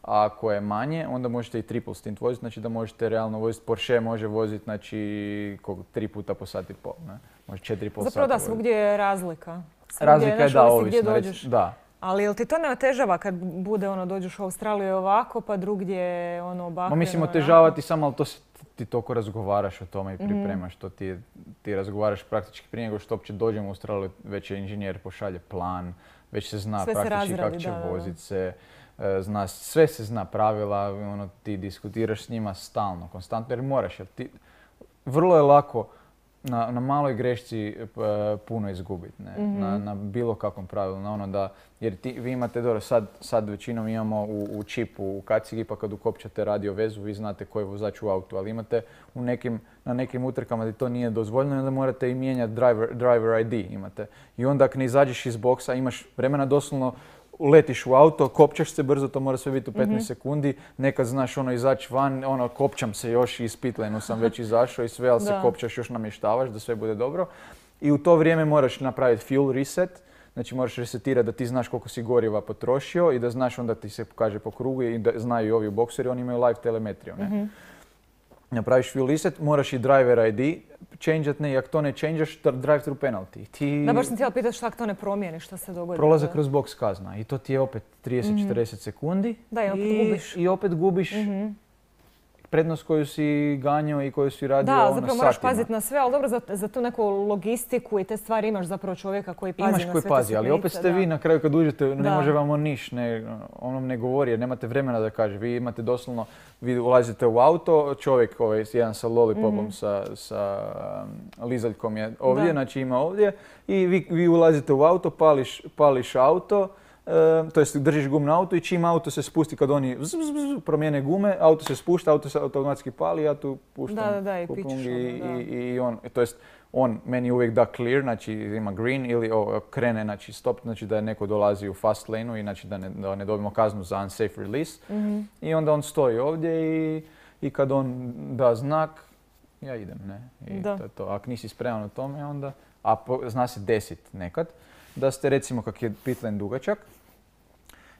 A ako je manje, onda možete i triple stint voziti, znači da možete realno voziti. Porsche može voziti, znači, koliko, tri puta po sat i pol, ne? Može četiri i pol sata Zapravo da, voziti. svugdje je razlika. Svugdje, Razlika je znaš, da, ovisi gdje ovisno. rec- dođeš. Da. Ali jel ti to ne otežava kad bude ono, dođeš u Australiju je ovako, pa drugdje ono Ma ovako? mislim, ono, otežava onako? ti samo, ali to se, ti toliko razgovaraš o tome i Mhm. pripremaš to. Ti, ti razgovaraš praktički prije nego što uopće dođemo u Australiju, već je inženjer pošalje plan, već se zna Sve se praktički kako razradi, će da, da, da. vozit se. e, Zna, sve se zna pravila, ono, ti diskutiraš s njima stalno, konstantno, jer moraš. Jer ti, vrlo je lako na, na maloj grešci e, puno izgubiti, ne? Mhm. na, na bilo kakvom pravilu, na ono da, jer ti, vi imate, dobro, sad, sad većinom imamo u, u čipu, u kacigi, pa kad ukopčate radio vezu, vi znate koji je vozač u autu, ali imate u nekim, na nekim utrkama gdje to nije dozvoljeno, i onda morate i mijenjati driver, driver I D, imate. I onda ako ne izađeš iz boksa, imaš vremena doslovno, uletiš u auto, kopčaš se brzo, to mora sve biti u petnaest sekundi, nekad znaš ono izaći van, ono kopčam se još i iz pitlenu sam već izašao i sve, ali se Da. kopčaš, još namještavaš da sve bude dobro. I u to vrijeme moraš napraviti fuel reset, znači moraš resetirati da ti znaš koliko si goriva potrošio i da znaš onda ti se pokaže po krugu i da znaju i ovi u boksu jer oni imaju live telemetriju. Ne? Mhm. Napraviš fuel reset, moraš i driver I D changeat, ne, i ako to ne changeaš, drive through penalty. Ti Da, baš sam htjela pitati šta ako to ne promijeni, šta se dogodi. prolaze Da. kroz boks kazna i to ti je opet trideset do četrdeset sekundi. Da, i opet i, gubiš. I opet gubiš Mhm. prednost koju si ganjao i koju si radio Da, ono, zapravo moraš satima. paziti na sve, ali dobro, za, za tu neku logistiku i te stvari imaš zapravo čovjeka koji pazi Imaš na koji sve te pazi, ali opet sitnice, ste da. vi na kraju kad uđete, ne Da. može vam on niš, ne, onom ne govori jer nemate vremena da kaže. Vi imate doslovno, vi ulazite u auto, čovjek ovaj, jedan sa lollipopom, Mhm. sa, sa um, lizaljkom je ovdje, Da. znači ima ovdje i vi, vi ulazite u auto, pališ, pališ auto, e, to jest držiš gum na auto i čim auto se spusti kad oni zzz, zzz, zzz, promijene gume, auto se spušta, auto se automatski pali, ja tu puštam Da, da, da, i kupung pičeš i, ono, da. i, i on, to jest on meni uvijek da clear, znači ima green ili o, krene, znači stop, znači da je neko dolazi u fast lane-u i znači da ne, da ne dobijemo kaznu za unsafe release. Mhm. I onda on stoji ovdje i, i kad on da znak, ja idem, ne? I Da. to je to. Ako nisi spreman u tome, onda, a po, zna se desit nekad, da ste recimo kak je pit lane dugačak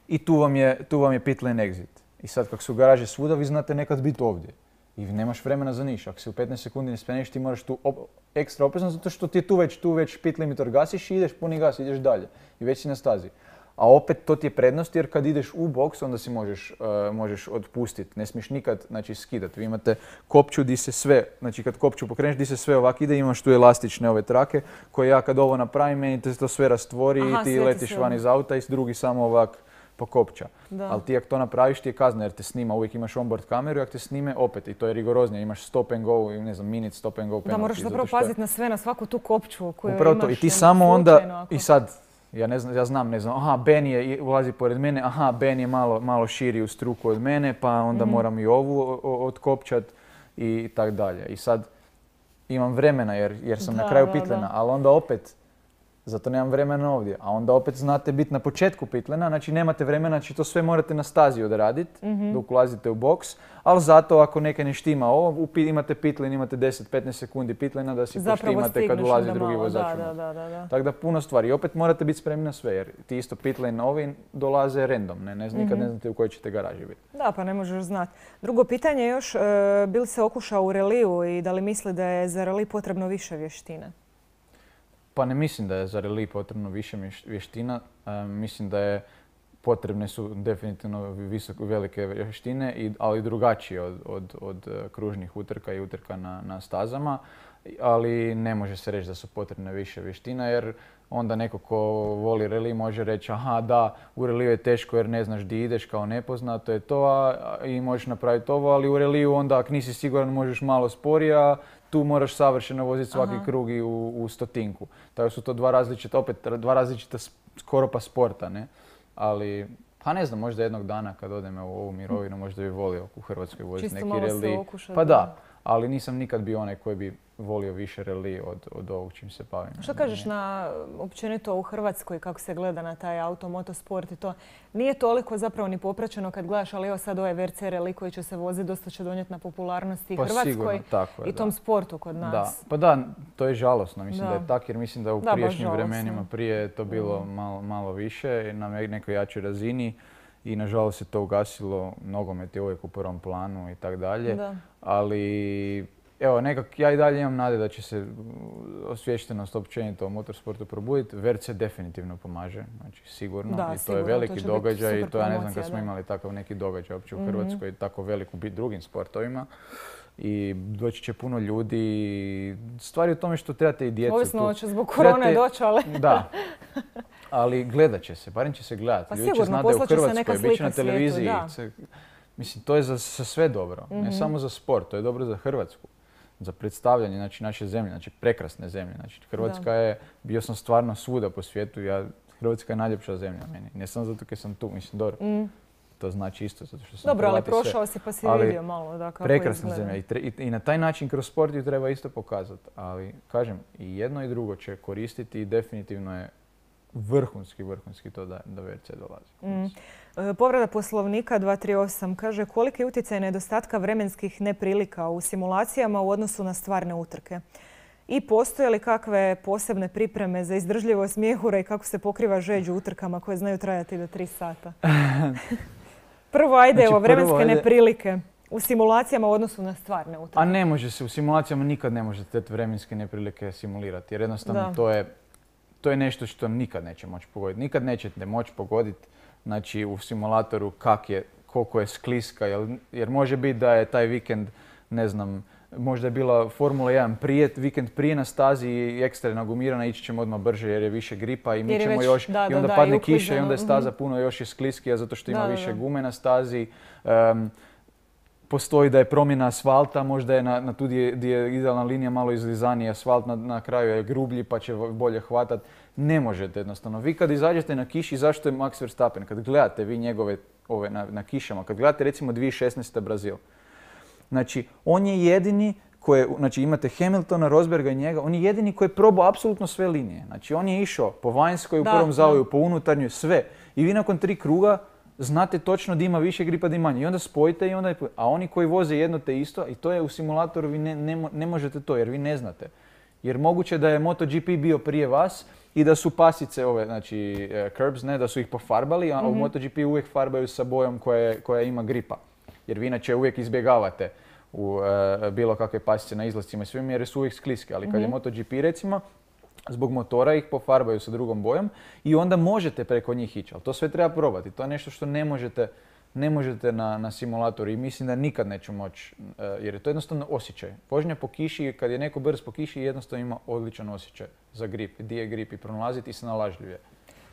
i tu vam je, tu vam je pit lane exit. I sad kak su garaže svuda, vi znate nekad biti ovdje. I nemaš vremena za niš. Ako se u petnaest sekundi ne spremiš, ti moraš tu op- ekstra oprezno zato što ti je tu već, tu već pit limitor gasiš i ideš puni gas, ideš dalje. I već si na stazi. A opet to ti je prednost jer kad ideš u boks onda si možeš, uh, možeš otpustiti. Ne smiješ nikad znači, skidati. Vi imate kopču di se sve, znači kad kopču pokreneš di se sve ovak ide, imaš tu elastične ove trake koje ja kad ovo napravim, meni te to sve rastvori Aha, i ti sve ti letiš se- van iz auta i drugi samo ovak pokopča. Da. Ali ti ako to napraviš ti je kazna jer te snima, uvijek imaš onboard kameru i ako te snime opet i to je rigoroznije, imaš stop and go, ne znam, minute stop and go penalty. Da, moraš zato zapravo što je- paziti na sve, na svaku tu kopču koju Upravo imaš. to. I ti ono, samo onda, slučajno ako- i sad, ja ne znam, ja znam, ne znam, aha, Ben je, i- ulazi pored mene, aha, Ben je malo, malo širi u struku od mene, pa onda Mhm. moram i ovu o- o- otkopčat i tak dalje. I sad imam vremena jer, jer sam Da, na kraju da, pitlena, da. ali onda opet, zato nemam vremena ovdje. A onda opet znate biti na početku pitlena, znači nemate vremena, znači to sve morate na stazi odraditi Mhm. dok ulazite u boks, ali zato ako neke ne štima ovo, u pi- imate pitlen, imate deset do petnaest sekundi pitlena da si Zapravo poštimate kad stigneš ulazi onda drugi malo, vozač da, u da, most. da, da, da. Tako da puno stvari. I opet morate biti spremni na sve jer ti isto pitlane ovi dolaze random, ne, ne znam, nikad ne znate u kojoj ćete garaži biti. Da, pa ne možeš znati. Drugo pitanje je još, e, bi li se okušao u reliju i da li misli da je za reli potrebno više vještine? Pa ne mislim da je za reli potrebno više mješ- vještina, e, mislim da je potrebne su definitivno visoko, velike vještine, i, ali drugačije od, od, od e, kružnih utrka i utrka na, na stazama. ali ne može se reći da su potrebne više vještina jer onda neko ko voli reli može reći aha da, u reliju je teško jer ne znaš di ideš kao nepoznato je to a, i možeš napraviti ovo, ali u reliju onda ako nisi siguran možeš malo sporije, a tu moraš savršeno voziti svaki aha. krug i u, u stotinku. Tako su to dva različita, opet dva različita skoro pa sporta, ne? Ali pa ne znam, možda jednog dana kad odem u ovu mirovinu možda bi volio u Hrvatskoj voziti neki reli. Pa da, ali nisam nikad bio onaj koji bi volio više reli od, od ovog čim se bavim. Što kažeš na općenito u Hrvatskoj kako se gleda na taj auto, motosport i to? Nije toliko zapravo ni popraćeno kad gledaš, ali evo sad ovaj V R C reli koji će se voziti dosta će donijeti na popularnosti i pa Hrvatskoj sigurno, tako je, i tom da. sportu kod nas. Da. Pa da, to je žalosno. Mislim da, da je tako jer mislim da u da, prijašnjim vremenima prije je to bilo mm. malo, malo više na nekoj jačoj razini. I nažalost se to ugasilo, nogomet je uvijek u prvom planu i tako dalje. Ali evo, nekak ja i dalje imam nade da će se osviještenost općenito o motorsportu probuditi. V R C definitivno pomaže, znači sigurno. Da, I to sigurno, je veliki to događaj i to ja ne znam kad da. smo imali takav neki događaj uopće u mm-hmm. Hrvatskoj, tako velik u drugim sportovima. I doći će puno ljudi. Stvari u tome što trebate i djecu. Ovisno će zbog korone trebate... doći, ali... Da. Ali gledat će se, barem će se gledati. Pa ljudi sigurno, će znati da je u Hrvatskoj, bit će na televiziji. Svijetu, mislim, to je za, za sve dobro. Mm-hmm. Ne samo za sport, to je dobro za Hrvatsku. Za predstavljanje znači, naše zemlje, znači prekrasne zemlje. Znači, Hrvatska da. je, bio sam stvarno svuda po svijetu. Ja, Hrvatska je najljepša zemlja meni. Ne samo zato jer sam tu, mislim, dobro. Mm. To znači isto zato što sam dobro, Hrvati ali prošao sve. si pa si ali vidio malo da kako prekrasna izgleda. zemlja I, tre, i, i na taj način kroz sport ju treba isto pokazati. Ali, kažem, i jedno i drugo će koristiti i definitivno je vrhunski, vrhunski to da, da V R C dolazi. Mm. E, povreda poslovnika dva tri osam kaže koliki je utjecaj nedostatka vremenskih neprilika u simulacijama u odnosu na stvarne utrke? I postoje li kakve posebne pripreme za izdržljivost mjehura i kako se pokriva žeđ u utrkama koje znaju trajati do tri sata? Prvo, ajde, znači, evo, vremenske prvo, ajde. neprilike u simulacijama u odnosu na stvarne utrke. A ne može se, u simulacijama nikad ne možete te vremenske neprilike simulirati jer jednostavno to je, to je nešto što nikad neće moći pogoditi. Nikad nećete moći pogoditi znači, u simulatoru kak je, koliko je skliska jer, jer može biti da je taj vikend, ne znam, možda je bila Formula jedan prije, vikend prije na stazi i ekstra je nagumirana, ići ćemo odmah brže jer je više gripa i mi ćemo već, još, da, i onda da, padne i kiša i onda je staza puno još je skliskija zato što ima da, više da. gume na stazi. Um, postoji da je promjena asfalta, možda je na, na tu gdje je idealna linija malo izlizaniji asfalt, na, na kraju je grublji pa će bolje hvatat. Ne možete jednostavno. Vi kad izađete na kiši, zašto je Max Verstappen? Kad gledate vi njegove ove na, na kišama, kad gledate recimo dvije tisuće šesnaeste. Brazil, znači on je jedini koje, znači imate Hamiltona, Rosberga i njega, on je jedini koji je probao apsolutno sve linije. Znači on je išao po vanjskoj, u prvom zavoju, po unutarnjoj, sve. I vi nakon tri kruga znate točno da ima više gripa, da ima manje. I onda spojite i onda je... A oni koji voze jedno te isto, i to je u simulatoru, vi ne, ne, ne možete to jer vi ne znate. Jer moguće da je MotoGP bio prije vas i da su pasice ove, znači uh, curbs, ne, da su ih pofarbali, a mm-hmm. u MotoGP uvijek farbaju sa bojom koja, koja ima gripa. Jer vi inače uvijek izbjegavate u uh, bilo kakve pasice na izlascima i svim jer su uvijek skliske. Ali kad mm-hmm. je MotoGP recimo, zbog motora ih pofarbaju sa drugom bojom i onda možete preko njih ići. Ali to sve treba probati. To je nešto što ne možete, ne možete na, na simulatoru i mislim da nikad neću moći uh, jer je to jednostavno osjećaj. Vožnja po kiši, kad je neko brz po kiši, jednostavno ima odličan osjećaj za grip, di je grip i pronalaziti i snalažljivije.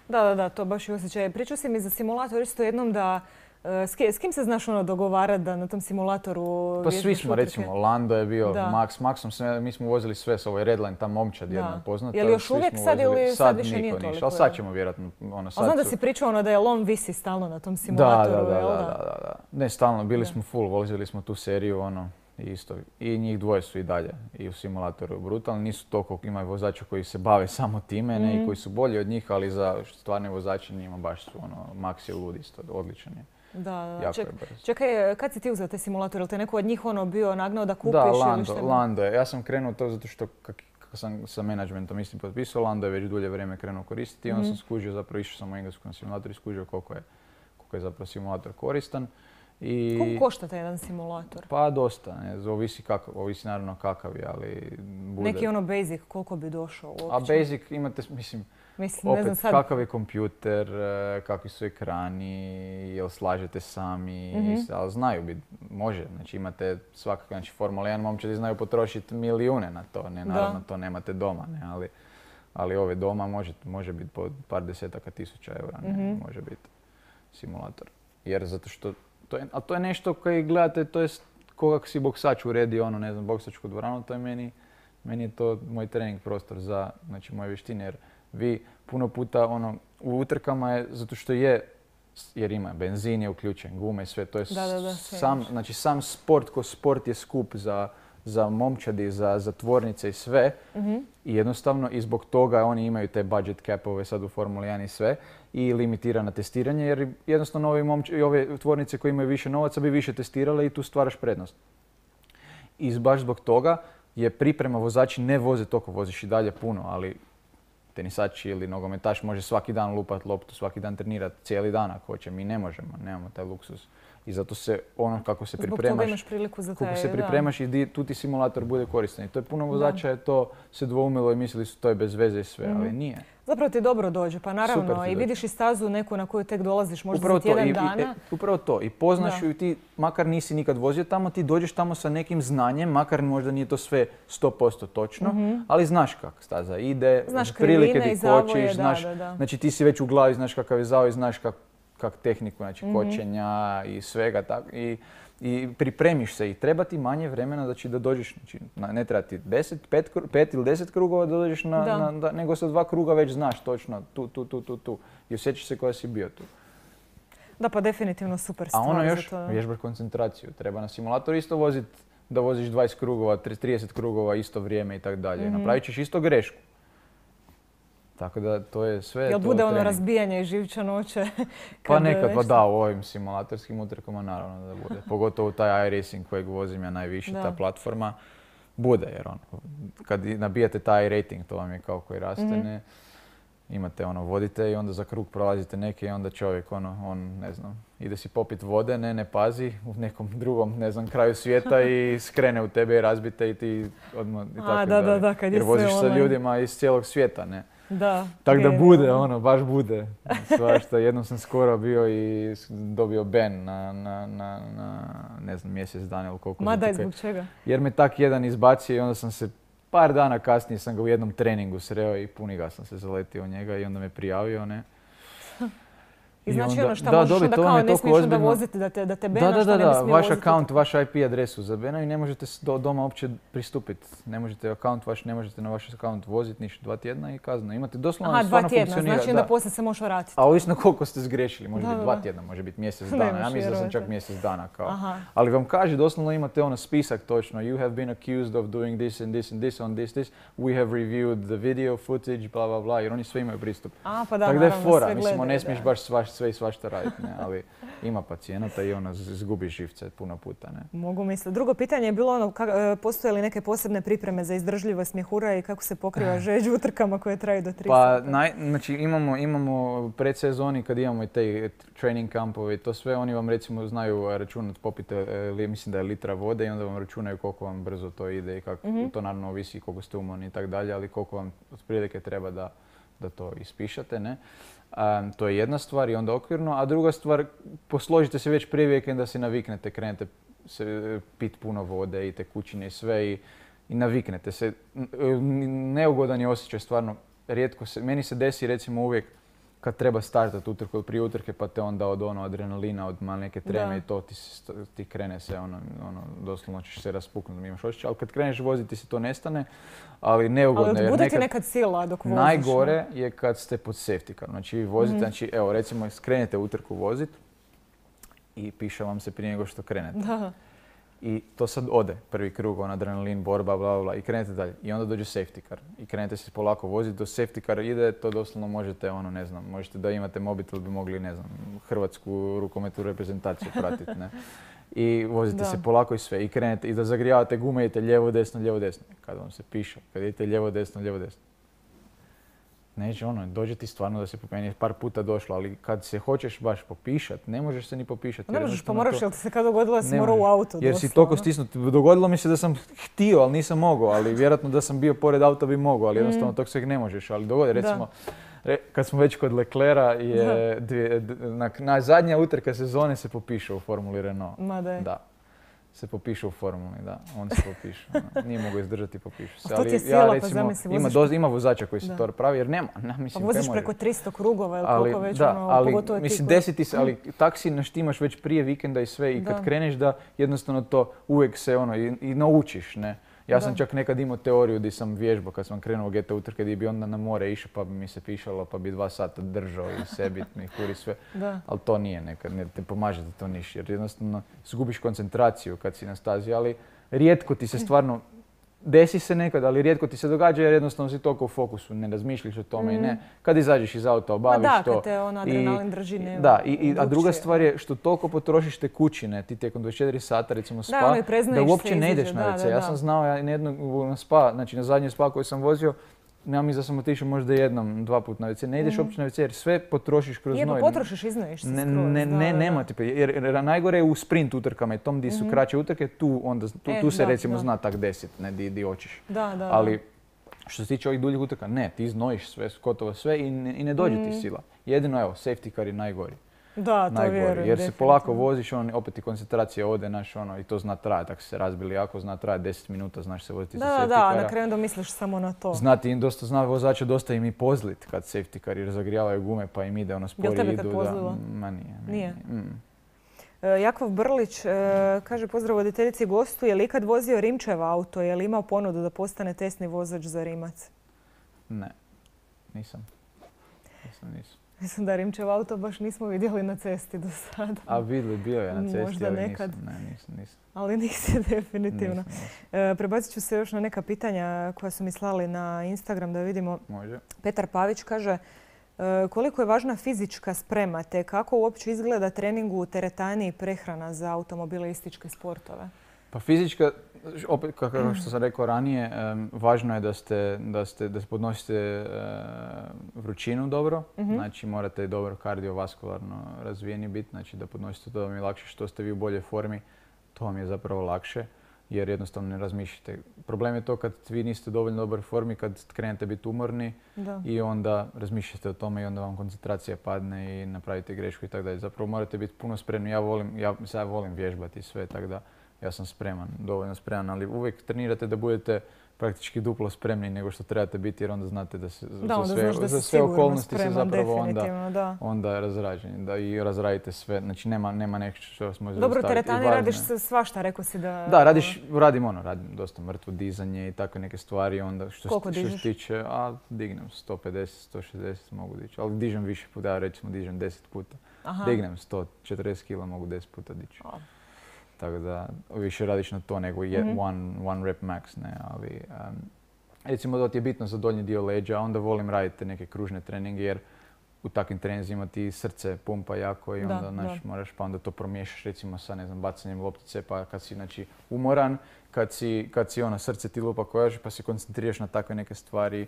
Da, da, da, to baš i osjećaj. Pričao si mi za simulator isto jednom da S, s kim se znaš ono dogovarati da na tom simulatoru? Pa svi smo, recimo, Lando je bio, da. Max, Maxom sve, mi smo vozili sve s ovaj Redline, ta momčad jedna poznata. Je li još uvijek sad ili sad, sad više nije toliko? Ali sad ćemo vjerojatno, ono sad A znam da su... si pričao ono da je lom visi stalno na tom simulatoru, da, da, da, jel da, da, da. Ne, stalno, bili da. smo full, vozili smo tu seriju, ono, isto. I njih dvoje su i dalje i u simulatoru brutalni. Nisu toliko, ima vozača koji se bave samo time, mm. ne, i koji su bolji od njih, ali za stvarne vozače njima baš su, ono, Max je lud isto, odličan je. Da, da. Ček, čekaj, kad si ti uzeo te simulatore? Ili te neko od njih ono bio nagnao da kupiš? Da, Lando, ili šta? Lando je. Ja sam krenuo to zato što kak, kako sam sa menadžmentom isti potpisao, Lando je već dulje vrijeme krenuo koristiti i onda mm-hmm. sam skužio, zapravo išao sam u engleskom simulatoru i skužio koliko je, koliko je zapravo simulator koristan. I, koliko košta taj jedan simulator? Pa dosta, ne, ovisi, kakav, ovisi naravno kakav je, ali bude... Neki ono basic, koliko bi došao uopće? A basic imate, mislim, Mislim, ne znam opet sad. kakav je kompjuter, e, kakvi su ekrani, jel slažete sami, Mhm. ali znaju biti, može, znači imate svakako, znači Formula jedan momčadi znaju potrošiti milijune na to, ne, naravno Da. to nemate doma, ne, ali, ali ove doma može, može biti po par desetaka tisuća eura, ne, Mhm. može biti simulator. Jer zato što, to je, a to je nešto koji gledate, to je ko kako si boksač uredi ono, ne znam, boksačku dvoranu, to je meni, meni je to moj trening prostor za, znači, moje vještine, jer vi puno puta ono, u utrkama je, zato što je, jer ima benzin je uključen, gume, sve, to je Da, da, da, sve sam, imaš. znači sam sport ko sport je skup za, za momčadi, za, za tvornice i sve. Mhm. I jednostavno i zbog toga oni imaju te budget capove sad u Formuli jedan i sve i limitirana testiranje, jer jednostavno ovi momč- i ove tvornice koje imaju više novaca bi više testirale i tu stvaraš prednost. I baš zbog toga je priprema, vozači ne voze toliko, voziš i dalje puno, ali tenisač ili nogometaš može svaki dan lupat loptu, svaki dan trenirati cijeli dan ako hoće. Mi ne možemo, nemamo taj luksus. I zato se ono kako se Zbog toga pripremaš, imaš priliku za taj, kako se da. pripremaš i di, tu ti simulator bude koristan. I to je puno vozača je to se dvoumilo i mislili su to je bez veze i sve, Mhm. ali nije. Zapravo ti dobro dođe, pa Super naravno ti i dođe. vidiš i stazu neku na koju tek dolaziš možda Upravo za tjedan to, i, i, dana. e, upravo to. I poznaš Da. ju i ti, makar nisi nikad vozio tamo, ti dođeš tamo sa nekim znanjem, makar možda nije to sve sto posto točno, ali znaš kako staza ide, Znaš prilike krivine ti i zavoje, kočiš, da, znaš, da, da. znači ti si već u glavi, znaš kakav je zavoj, znaš kak, kak tehniku, znači Mhm. kočenja i svega tako. I, i pripremiš se i treba ti manje vremena znači, da dođeš, znači, na- ne treba ti deset, pet, kru- pet ili deset krugova da dođeš na, Da. na- da, nego sa dva kruga već znaš točno tu, tu, tu, tu, tu. I osjećaš se koja si bio tu. Da, pa definitivno super A stvar. ono za još, to. vježbaš koncentraciju. Treba na simulatoru isto voziti da voziš dvadeset krugova, trideset krugova isto vrijeme i tako dalje. Mhm. Napravit ćeš isto grešku. Tako da to je sve Jel to bude ono trening. razbijanje i živčanoće? Pa kad nekad, pa nešto- da, u ovim simulatorskim utrkama naravno da bude. Pogotovo taj iRacing kojeg vozim ja najviše, Da. ta platforma, bude jer ono, kad i nabijate taj rating, to vam je kao koji raste, Mhm. ne, imate ono, vodite i onda za krug prolazite neki i onda čovjek ono, on ne znam, ide si popit vode, ne, ne pazi, u nekom drugom, ne znam, kraju svijeta i skrene u tebe i razbite i ti odmah i A, tako da, da, dalje. da, kad je Jer voziš sve sa online. ljudima iz cijelog svijeta, ne. Da. Tako da genijalno. bude, ono, baš bude. Svašta, jednom sam skoro bio i s- dobio ban na, na, na, na ne znam, mjesec dana ili koliko. Ma za daj, tukaj. zbog čega? Jer me tak jedan izbacio i onda sam se, par dana kasnije sam ga u jednom treningu sreo i puni ga sam se zaletio u njega i onda me prijavio, ne. I znači onda- ono šta da, možeš dobij, onda to vam kao je ne toliko smiješ onda ozbiljno. voziti da te, da te Da, bena, da, šta da, ne bi da, smio vaš voziti. akaunt, vaš I P adresu zabenaju i ne možete s- do doma uopće pristupiti. Ne možete akaunt vaš, ne možete na vaš akaunt voziti ništa, dva tjedna i kazna. Imate doslovno, Aha, dva stvarno tjedna, funkcionira. znači onda da. poslije se možeš vratiti. A ovisno koliko ste zgriješili, može Da, biti da, dva da. tjedna, može biti mjesec Ne dana. Ja možeš mislim da sam čak vjerovati. mjesec dana kao. Aha. Ali vam kaže, doslovno imate ono spisak točno, you have been accused of doing this and this and this on this, this, we have reviewed the video footage, bla bla bla, jer oni sve imaju pristup. A, pa da, Tako da je naravno, fora, sve mislimo, gledaju, ne smiješ da. baš svaš, sve i svašta raditi, ne, ali ima pacijenata i ono, z- izgubiš živce puno puta, ne. Mogu misliti. Drugo pitanje je bilo ono, ka- e, postoje li neke posebne pripreme za izdržljivost mjehura i kako se pokriva žeđ u utrkama koje traju do tri Pa, sata? naj, znači imamo, imamo predsezoni kad imamo i te training kampove i to sve, oni vam recimo znaju računati, popite, e, li- mislim da je litra vode i onda vam računaju koliko vam brzo to ide i kako, Mhm. to naravno ovisi koliko ste umorni i tako dalje, ali koliko vam otprilike treba da, da to ispišate, ne. Um, to je jedna stvar i onda okvirno, a druga stvar, posložite se već prije vikenda da se naviknete, krenete se e, pit puno vode i tekućine i sve i, i naviknete se. N- n- Neugodan je osjećaj stvarno, rijetko se, meni se desi recimo uvijek kad treba startati utrku ili prije utrke pa te onda od ono adrenalina, od malo neke treme Da. i to ti, se st- ti krene se ono, ono, doslovno ćeš se raspuknuti, imaš osjećaj, ali kad kreneš voziti se to nestane, ali neugodno Ali jer bude ti nekad... nekad sila dok voziš. Najgore je kad ste pod safety carom. Znači vi vozite, Mhm. znači evo recimo skrenete utrku vozit i piše vam se prije nego što krenete. Da. I to sad ode, prvi krug, on adrenalin, borba, bla, bla, bla, i krenete dalje. I onda dođe safety car. I krenete se polako voziti, do safety car ide, to doslovno možete, ono, ne znam, možete da imate mobitel, bi mogli, ne znam, hrvatsku rukometnu reprezentaciju pratiti, ne. I vozite Da. se polako i sve. I krenete, i da zagrijavate gume, idete lijevo, desno, lijevo, desno. Kad vam se piše, kad idete lijevo, desno, lijevo, desno. neće ono, dođe ti stvarno da se popeni, je par puta došlo, ali kad se hoćeš baš popišat, ne možeš se ni popišat. Ne možeš, pa moraš, jel ti se kad dogodilo da si morao u auto jer si toliko stisnut. Dogodilo mi se da sam htio, ali nisam mogao, ali vjerojatno da sam bio pored auta bi mogao, ali jednostavno mm. tog sveg ne možeš. Ali dogodi, recimo, re, kad smo već kod Leclerca, je dvije, na, na zadnja utrka sezone se popiše u Formuli Renault. Ma da je. Da. Se popiše u formuli, da. On se popiše. Ono. Nije mogao izdržati, popiše se. A to ti je sila, ja, recimo, pa zamisli, ima, doz, ima vozača koji se da. to pravi, jer nema. Ne, mislim, pa voziš preko tristo krugova ili ali, koliko već, da, ono, ali, pogotovo mislim, ti koji... desiti se, ali taksi naštimaš već prije vikenda i sve i kad da. kreneš da jednostavno to uvijek se ono i, i naučiš, ne. Ja da. sam čak nekad imao teoriju gdje sam vježbao kad sam krenuo u G T utrke gdje bi onda na more išao pa bi mi se pišalo pa bi dva sata držao i sebi mi kuri sve. Da. Ali to nije nekad, ne te pomaže da to niš jer jednostavno izgubiš koncentraciju kad si na stazi, ali rijetko ti se stvarno, desi se nekad, ali rijetko ti se događa jer jednostavno si toliko u fokusu, ne razmišljaš o tome mm. i ne. Kad izađeš iz auta, obaviš da, to. Da, kad te ono adrenalin drži ne. Da, i, i, a druga stvar je što toliko potrošiš te kućine, ti tijekom dvadeset četiri sata recimo spa, da, ono da uopće ne ideš da, na ve ce. Da, da. Ja sam znao, ja na jednog na spa, znači na zadnji spa koji sam vozio, ja mislim da sam otišao možda jednom, dva puta na ve ce. Ne ideš mm. uopće na ve ce jer sve potrošiš kroz je, noj. Je, pa potrošiš, iznojiš se skroz. Ne, ne, da, ne da. nema ti, jer, jer najgore je u sprint utrkama i tom gdje su mm-hmm. kraće utrke, tu, onda, tu, e, tu se da, recimo da. zna tak deset, ne, di, di hoćeš. Da, da, ali, da. što se tiče ovih duljih utrka, ne, ti znojiš sve, gotovo sve i ne, i ne dođe mm. ti sila. Jedino, evo, safety car je najgori. Da, to najgori, vjerujem. jer se polako voziš, on, opet ti koncentracija ode, naš, ono, i to zna trajati. Ako se razbili jako, zna trajati deset minuta, znaš se voziti da, sa safety da, cara. Da, na kraju onda misliš samo na to. Znati, dosta zna vozača, dosta im i pozlit kad safety car jer zagrijavaju gume pa im ide ono spori idu. Jel tebe kad pozlilo? Da, ma nije. Nije? Mm. E, Jakov Brlić e, kaže pozdrav voditeljici gostu, je li ikad vozio Rimčev auto, je li imao ponudu da postane testni vozač za Rimac? Ne, nisam. Nisam, nisam. Mislim da Rimčev auto baš nismo vidjeli na cesti do sada. A vidjeli, bio je na cesti, možda ali nekad. nisam. Ne, nisam, nisam. Ali nisi definitivno. Nisam, nisam. E, prebacit ću se još na neka pitanja koja su mi slali na Instagram da vidimo. Može. Petar Pavić kaže e, koliko je važna fizička sprema te kako uopće izgleda trening u teretani i prehrana za automobilističke sportove? Pa fizička, opet kako što sam rekao ranije, um, važno je da ste, da ste, da podnosite uh, vrućinu dobro, mm-hmm. znači morate dobro kardiovaskularno razvijeni biti, znači da podnosite to da vam je lakše, što ste vi u boljoj formi, to vam je zapravo lakše jer jednostavno ne razmišljate. Problem je to kad vi niste dovoljno u dobroj formi, kad krenete biti umorni da. i onda razmišljate o tome i onda vam koncentracija padne i napravite grešku i tako dalje. Zapravo morate biti puno spremni. Ja volim, ja, ja volim vježbati sve, tako da ja sam spreman, dovoljno spreman, ali uvijek trenirate da budete praktički duplo spremni nego što trebate biti jer onda znate da se da, za sve, da za sve okolnosti spreman, se zapravo onda, da. onda razrađeni. Da i razradite sve, znači nema, nema nešto što vas može dobro, zastaviti. Dobro, teretani radiš svašta, rekao si da... Da, radiš, radim ono, radim dosta mrtvo dizanje i takve neke stvari. Onda što, koliko što dižeš? se tiče, a dignem sto pedeset, sto šezdeset mogu dići, ali dižem više puta, ja recimo dižem deset puta. Aha. Dignem sto četrdeset kila, mogu deset puta dići. Oh. Tako da više radiš na to nego mm-hmm. one, one rep max, ne, ali um, recimo da ti je bitno za donji dio leđa, onda volim raditi neke kružne treninge jer u takvim treninzima ti srce pumpa jako i onda da, naš, da. moraš pa onda to promiješaš recimo sa ne znam, bacanjem loptice pa kad si znači, umoran, kad si, kad si ono, srce ti lupa kojaž pa se koncentriraš na takve neke stvari.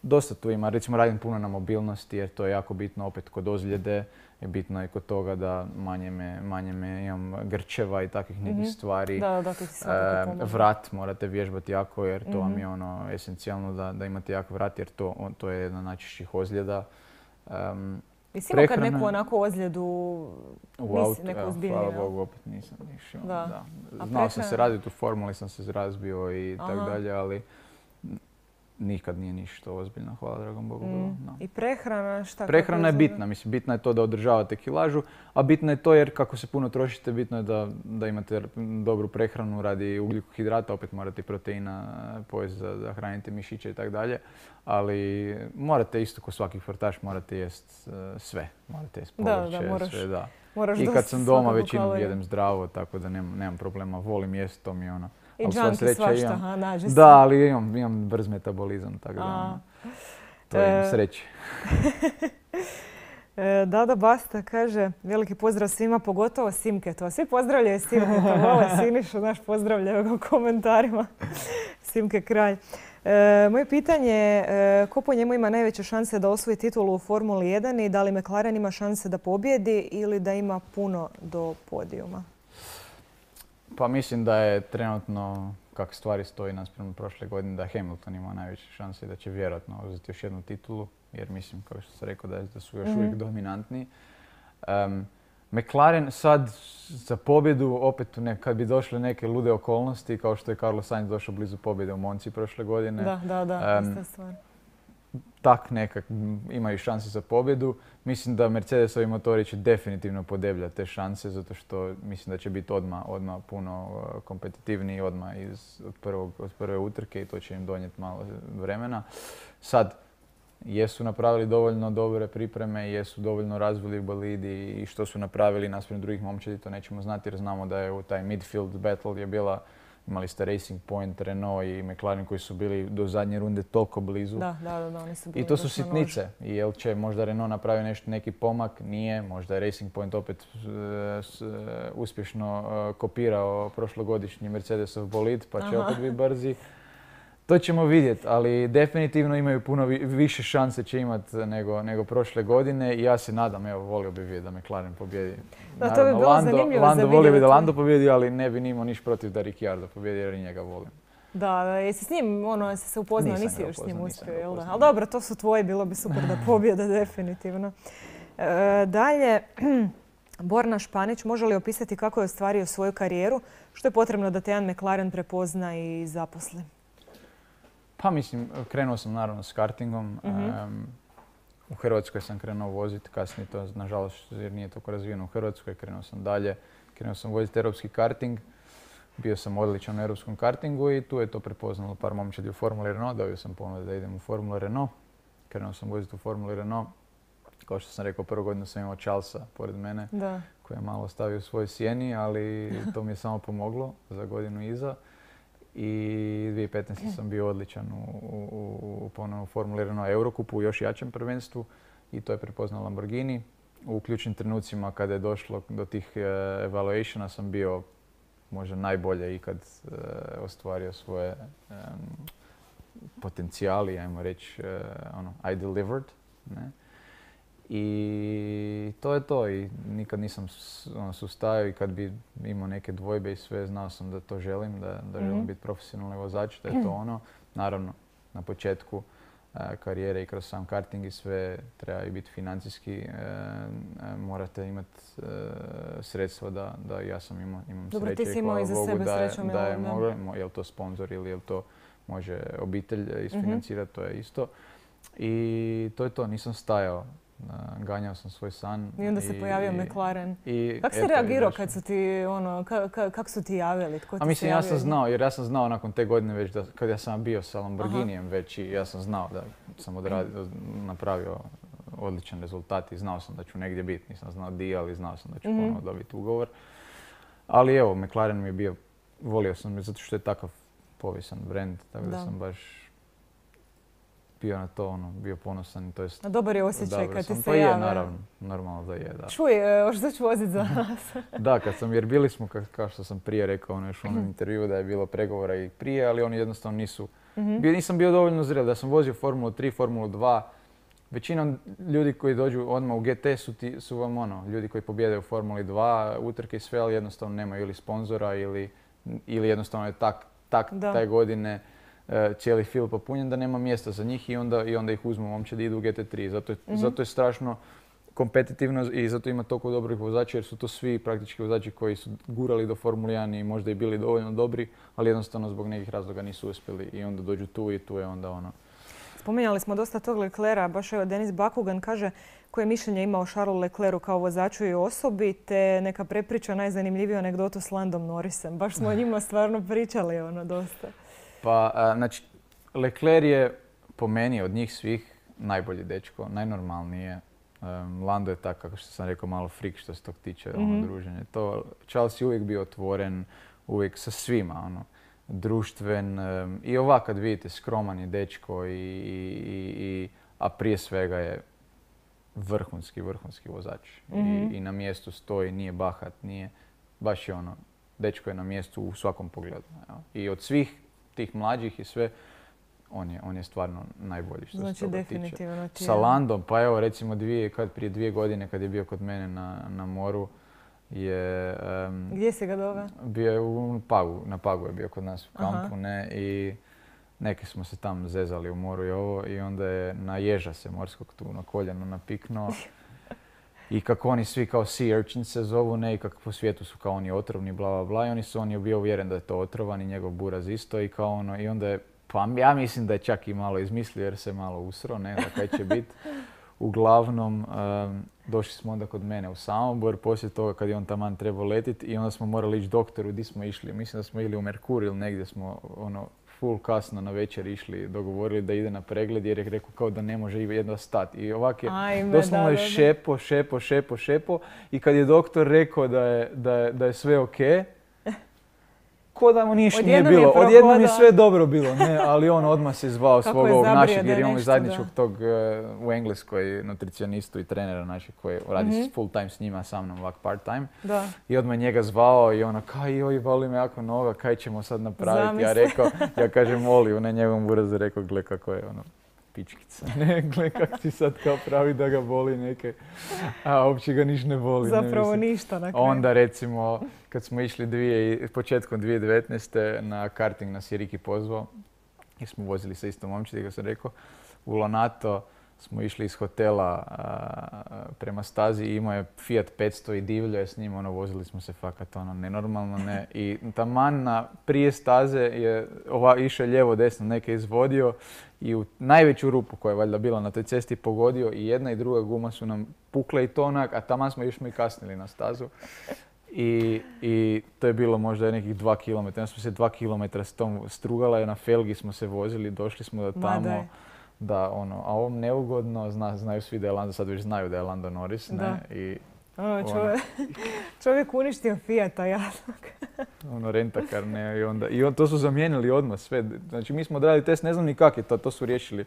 Dosta tu ima, recimo radim puno na mobilnosti jer to je jako bitno opet kod ozljede. Je bitno i kod toga da manje me, manje me imam grčeva i takvih nekih mm-hmm. stvari. Da, da, ti svakako pomoći. Vrat morate vježbati jako jer to mm-hmm. vam je ono esencijalno da, da imate jak vrat jer to, on, to je jedna od najčešćih ozljeda. Um, Jesi imao kad neku onako ozljedu, u autu, neku ozbiljniju? Hvala Bogu, opet nisam išao. Da. Da. Znao sam se raditi u formuli, sam se razbio i Aha. tako dalje, ali nikad nije ništa ozbiljno, hvala dragom Bogu. Mm. No. I prehrana šta? Prehrana je bitna, mislim, bitna je to da održavate kilažu, a bitno je to jer kako se puno trošite, bitno je da, da imate dobru prehranu radi ugljikohidrata, opet morate proteina pojesti da, da hranite mišiće i tako dalje, ali morate isto ko svaki sportaš morate jest uh, sve, morate jest povrće, da, da, moraš, sve, da. Moraš I kad sam doma većinom jedem zdravo, tako da nemam, nemam problema, volim jest, to mi je ono. I džanki svašta, ha, nađe se. Da, ali imam, imam brz metabolizam, tako da to je sreće. Dada Basta kaže, veliki pozdrav svima, pogotovo Simketu. Svi pozdravljaju Simketa, vole Sinišu, naš pozdravljaju ga u komentarima. Simke Kralj. E, moje pitanje je e, ko po njemu ima najveće šanse da osvoji titulu u Formuli jedan i da li McLaren ima šanse da pobjedi ili da ima puno do podijuma? Pa mislim da je trenutno, kako stvari stoji naspram prošle godine, da Hamilton ima najveće šanse i da će vjerojatno uzeti još jednu titulu, jer mislim, kao što sam rekao, da, da su još mm-hmm. uvijek dominantni. Um, McLaren sad za pobjedu, opet ne, kad bi došle neke lude okolnosti, kao što je Carlos Sainz došao blizu pobjede u Monci prošle godine. Da, da, da, um, ista stvar. Tak nekak imaju šanse za pobjedu. Mislim da Mercedesovi motori će definitivno podebljati te šanse, zato što mislim da će biti odmah, odmah puno kompetitivniji, odmah iz, od, prvog, od prve utrke i to će im donijeti malo vremena. Sad, jesu napravili dovoljno dobre pripreme, jesu dovoljno razvili bolidi i što su napravili naspram drugih momčadi, to nećemo znati jer znamo da je u taj midfield battle je bila, imali ste Racing Point, Renault i McLaren koji su bili do zadnje runde toliko blizu. Da, da, da, oni su bili I to su sitnice. I jel će možda Renault napravi nešto, neki pomak? Nije. Možda je Racing Point opet uh, s, uh, uspješno uh, kopirao prošlogodišnji Mercedesov bolid pa će Aha. opet biti brzi. To ćemo vidjeti, ali definitivno imaju puno vi, više šanse će imati nego, nego prošle godine i ja se nadam, evo, volio bi vidjeti da McLaren pobjedi. Da, to bi bilo Lando, zanimljivo Lando za volio bi da vidjeti. Lando pobjedi, ali ne bi nimao niš protiv da Ricciardo pobjedi jer i njega volim. Da, da, jesi s njim, ono, jesi se upoznao, Nisam nisi ga još s njim upoznao, uspio, nisam ga jel da? upoznao. Ali dobro, to su tvoji, bilo bi super da pobjede, definitivno. E, dalje, Borna Španić, može li opisati kako je ostvario svoju karijeru? Što je potrebno da te jedan McLaren prepozna i zaposli? Pa mislim, krenuo sam naravno s kartingom. Mm-hmm. Um, u Hrvatskoj sam krenuo voziti, kasnije to nažalost jer nije toliko razvijeno u Hrvatskoj, krenuo sam dalje. Krenuo sam voziti europski karting. Bio sam odličan u europskom kartingu i tu je to prepoznalo par momčadi u Formuli Renault. Dobio sam ponudu da idem u Formulu Renault. Krenuo sam voziti u Formuli Renault. Kao što sam rekao, prvu godinu sam imao Charlesa pored mene, da. koji je malo stavio u svoj sjeni, ali to mi je samo pomoglo za godinu iza. I dvije tisuće petnaeste. sam bio odličan u, u, u ponovno Formuli Renault Eurocupu u još jačem prvenstvu i to je prepoznao Lamborghini. U ključnim trenucima kada je došlo do tih uh, evaluationa sam bio možda najbolje ikad uh, ostvario svoje um, potencijali, ajmo reći, uh, ono, I delivered. Ne? I to je to i nikad nisam ono, sustajao i kad bi imao neke dvojbe i sve, znao sam da to želim, da, da mm-hmm. želim biti profesionalni vozač, da je to ono. Naravno, na početku uh, karijere i kroz sam karting i sve treba i biti financijski, uh, uh, morate imati uh, sredstva da, da ja sam imao, imam Dobro, sreće ti si i imao hvala iza Bogu sebe da je, srećom, da je jel da? moglo, je li to sponsor ili je li to može obitelj isfinancirati, mm-hmm. to je isto. I to je to, nisam stajao. Ganjao sam svoj san. I onda se i, pojavio i, McLaren. I, kako si eto, reagirao i kad su ti, ono, ka, ka, kako su ti javili? Tko ti A mislim, se ja javio? sam znao, jer ja sam znao nakon te godine već da, kad ja sam bio sa Lamborghinijem već i ja sam znao da sam odradio, napravio odličan rezultat i znao sam da ću negdje biti. Nisam znao di, ali znao sam da ću mm-hmm. ponovno dobiti ugovor. Ali evo, McLaren mi je bio, volio sam zato što je takav povijesan brand, tako da, da sam baš bio na to, ono, bio ponosan. To jest, a dobar je osjećaj kad ti se pa jave. Pa je, naravno, normalno da je, da. Čuj, što ću voziti za nas? Da, kad sam, jer bili smo, ka, kao što sam prije rekao, ono još u onom intervjuu da je bilo pregovora i prije, ali oni jednostavno nisu, mm-hmm. bio, nisam bio dovoljno zrel. Da sam vozio Formulu tri, Formulu dva, većinom ljudi koji dođu odmah u G T su, ti, su vam ono, ljudi koji pobjedaju u Formuli dva, utrke i sve, ali jednostavno nemaju ili sponzora ili, ili jednostavno je tak, tak taj godine cijeli fil popunjen da nema mjesta za njih i onda, i onda ih uzmu momčadi idu u G T tri. Zato je, mm-hmm. zato je strašno kompetitivno i zato ima toliko dobrih vozača jer su to svi praktički vozači koji su gurali do Formule jedan i možda i bili dovoljno dobri, ali jednostavno zbog nekih razloga nisu uspjeli i onda dođu tu i tu je onda ono. Spominjali smo dosta tog Leclerca, baš evo Denis Bakugan kaže koje mišljenje ima o Charlesu Leclercu kao vozaču i osobi, te neka prepriča najzanimljiviju anegdotu s Landom Norrisem. Baš smo o njima stvarno pričali ono dosta. Pa, a, znači, Leclerc je po meni od njih svih najbolji dečko, najnormalniji je. Um, Lando je tak, kako što sam rekao, malo freak što se tog tiče, mm-hmm. ono, druženje. To, Charles je uvijek bio otvoren, uvijek sa svima, ono, društven. Um, I ovak kad vidite, skroman je dečko, i, i, i, a prije svega je vrhunski, vrhunski vozač. Mm-hmm. I, I na mjestu stoji, nije bahat, nije, baš je ono, dečko je na mjestu u svakom pogledu. Evo. I od svih tih mlađih i sve, on je, on je stvarno najbolji što znači, se toga definitivno tiče. Sa Landom, pa evo recimo dvije, kad, prije dvije godine kad je bio kod mene na, na moru, je... Um, Gdje si ga doveo? Bio je u Pagu, na Pagu je bio kod nas u kampu, Aha. ne, i neki smo se tam zezali u moru i ovo, i onda je na ježa se morskog tu na koljenu napiknuo. I kako oni svi kao sea urchin se zovu, ne, i kako po svijetu su kao oni otrovni, bla, bla, bla, i oni su, on je bio uvjeren da je to otrovan i njegov buraz isto, i kao ono, i onda je, pa ja mislim da je čak i malo izmislio jer se malo usro, ne, da kaj će biti. Uglavnom, um, došli smo onda kod mene u Samobor, poslije toga kad je on taman trebao letiti, i onda smo morali ići doktoru, di smo išli, mislim da smo ili u Merkur ili negdje smo, ono, full kasno na večer išli, dogovorili da ide na pregled jer je rekao kao da ne može jedva stati. I ovak je Ajme, doslovno da, je da, da. šepo, šepo, šepo, šepo, i kad je doktor rekao da je, da je, da je sve ok, ko da mu ništa nije Odjednom je bilo. prohodao. Odjednom je sve dobro bilo, ne, ali on odmah se zvao Kako svog je ovog zabrio našeg, da jer je imamo i nešto, zajedničkog da. tog uh, u Engleskoj nutricionistu i trenera našeg koji radi Mhm. full time s njima, sa mnom ovak part time. Da. I odmah njega zvao i ono, kaj joj, voli me jako noga, kaj ćemo sad napraviti? Ja Zamisli. rekao, ja kažem, Oli, na njegovom burazu rekao, gle kako je ono, pičkica, ne, gle kak ti sad kao pravi da ga boli neke, a uopće ga niš ne boli. ne, Zapravo mislim. ništa na kraju. Onda recimo, kad smo išli dvije, početkom dvije tisuće devetnaeste na karting nas je Riki pozvao, jer smo vozili sa istom momčadi, kako sam rekao, u Lonato smo išli iz hotela a, prema stazi i imao je Fiat petsto i divljo je s njim, ono, vozili smo se fakat ono, nenormalno, ne. I taman na prije staze je ova, išao lijevo desno neke izvodio i u najveću rupu koja je valjda bila na toj cesti pogodio, i jedna i druga guma su nam pukle i to onak, a taman smo još mi kasnili na stazu. I, I to je bilo možda nekih dva kilometra, onda smo se dva kilometra s tom strugala i na felgi smo se vozili, došli smo do Ma tamo. daj. Da, ono, a ovom neugodno, zna, znaju svi da je Lando, sad već znaju da je Lando Norris, ne, Da. i Ono, čovjek, čovjek uništio Fijata, jasno. ono, rentakar, ne, i onda, i on, to su zamijenili odmah sve, znači mi smo odradili test, ne znam ni kak je to, to su riješili,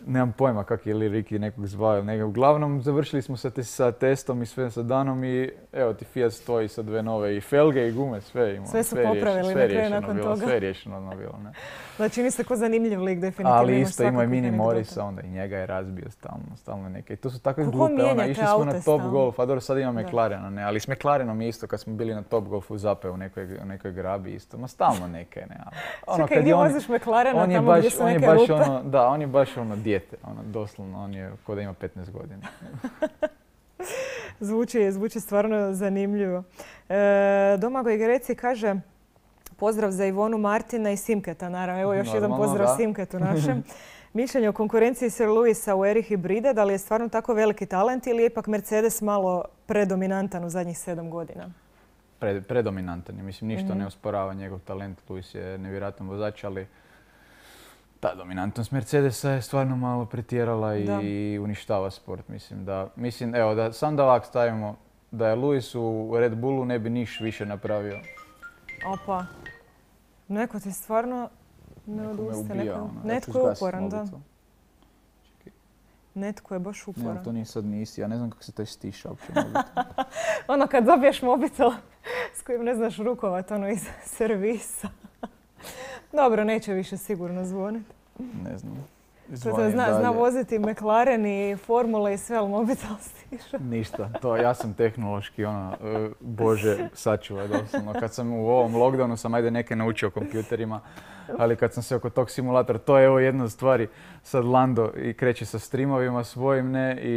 nemam pojma kak je li Riki nekog zvao ili nekog, uglavnom završili smo sa, te, sa testom i sve sa danom i evo ti Fiat stoji sa dve nove i felge i gume, sve imamo. Sve su je popravili riješeno, na sve je kraju riješeno nakon bilo, toga. Sve je riješeno odmah bilo, ne. Da, čini se ko zanimljiv lik, definitivno. Ali imaš isto ima i svakakvih Mini anegdota. Morisa, onda i njega je razbio stalno, stalno neke. I to su takve Kako glupe, ona, mijenjate išli smo na aute Top stalno? Golf, a dobro sad ima Da. McLarena, ne, ali s McLarenom je isto kad smo bili na Top Golfu Zape u nekoj, u nekoj grabi isto, ma stalno neke, ne, ali. Ono, Čekaj, kad gdje je on- voziš McLarena on je tamo baš, gdje su on je neke baš rupe? ono, da, on je baš ono dijete, ono, doslovno, on je ko da ima petnaest godina. Zvuči, zvuči stvarno zanimljivo. E, Domagoj Greci kaže pozdrav za Ivonu Martina i Simketa, naravno. Evo još jedan Normalno, pozdrav da. Simketu našem. Mišljenje o konkurenciji Sir Lewisa u eri hibrida, da li je stvarno tako veliki talent ili je ipak Mercedes malo predominantan u zadnjih sedam godina? Pre, predominantan je, mislim, ništa Mhm. ne osporava njegov talent, Lewis je nevjerojatan vozač, ali ta dominantnost Mercedesa je stvarno malo pretjerala i Da. uništava sport, mislim da, mislim, evo, da sam da ovak stavimo, da je Lewis u Red Bullu ne bi niš više napravio. Opa, neko ti stvarno ne Neko me odustaje. ubija, Neko, ono, ja ću netko je zgasit uporan, da. mobitel. Netko je baš Ne, uporan. to nije sad nisi, ja ne znam kako se to stiša uopće mobitel. Ono kad dobiješ mobitel s kojim ne znaš rukovat, ono iz servisa. Dobro, neće više sigurno zvoniti. Ne znam. To Zvonim zna, zna dalje. voziti McLaren i Formule i sve, ali mobitel stiša. Ništa, to ja sam tehnološki ono, e, bože sačuvaj doslovno. Kad sam u ovom lockdownu sam ajde neke naučio o kompjuterima, ali kad sam se oko tog simulatora, to je evo jedna od stvari, sad Lando i kreće sa streamovima svojim, ne, i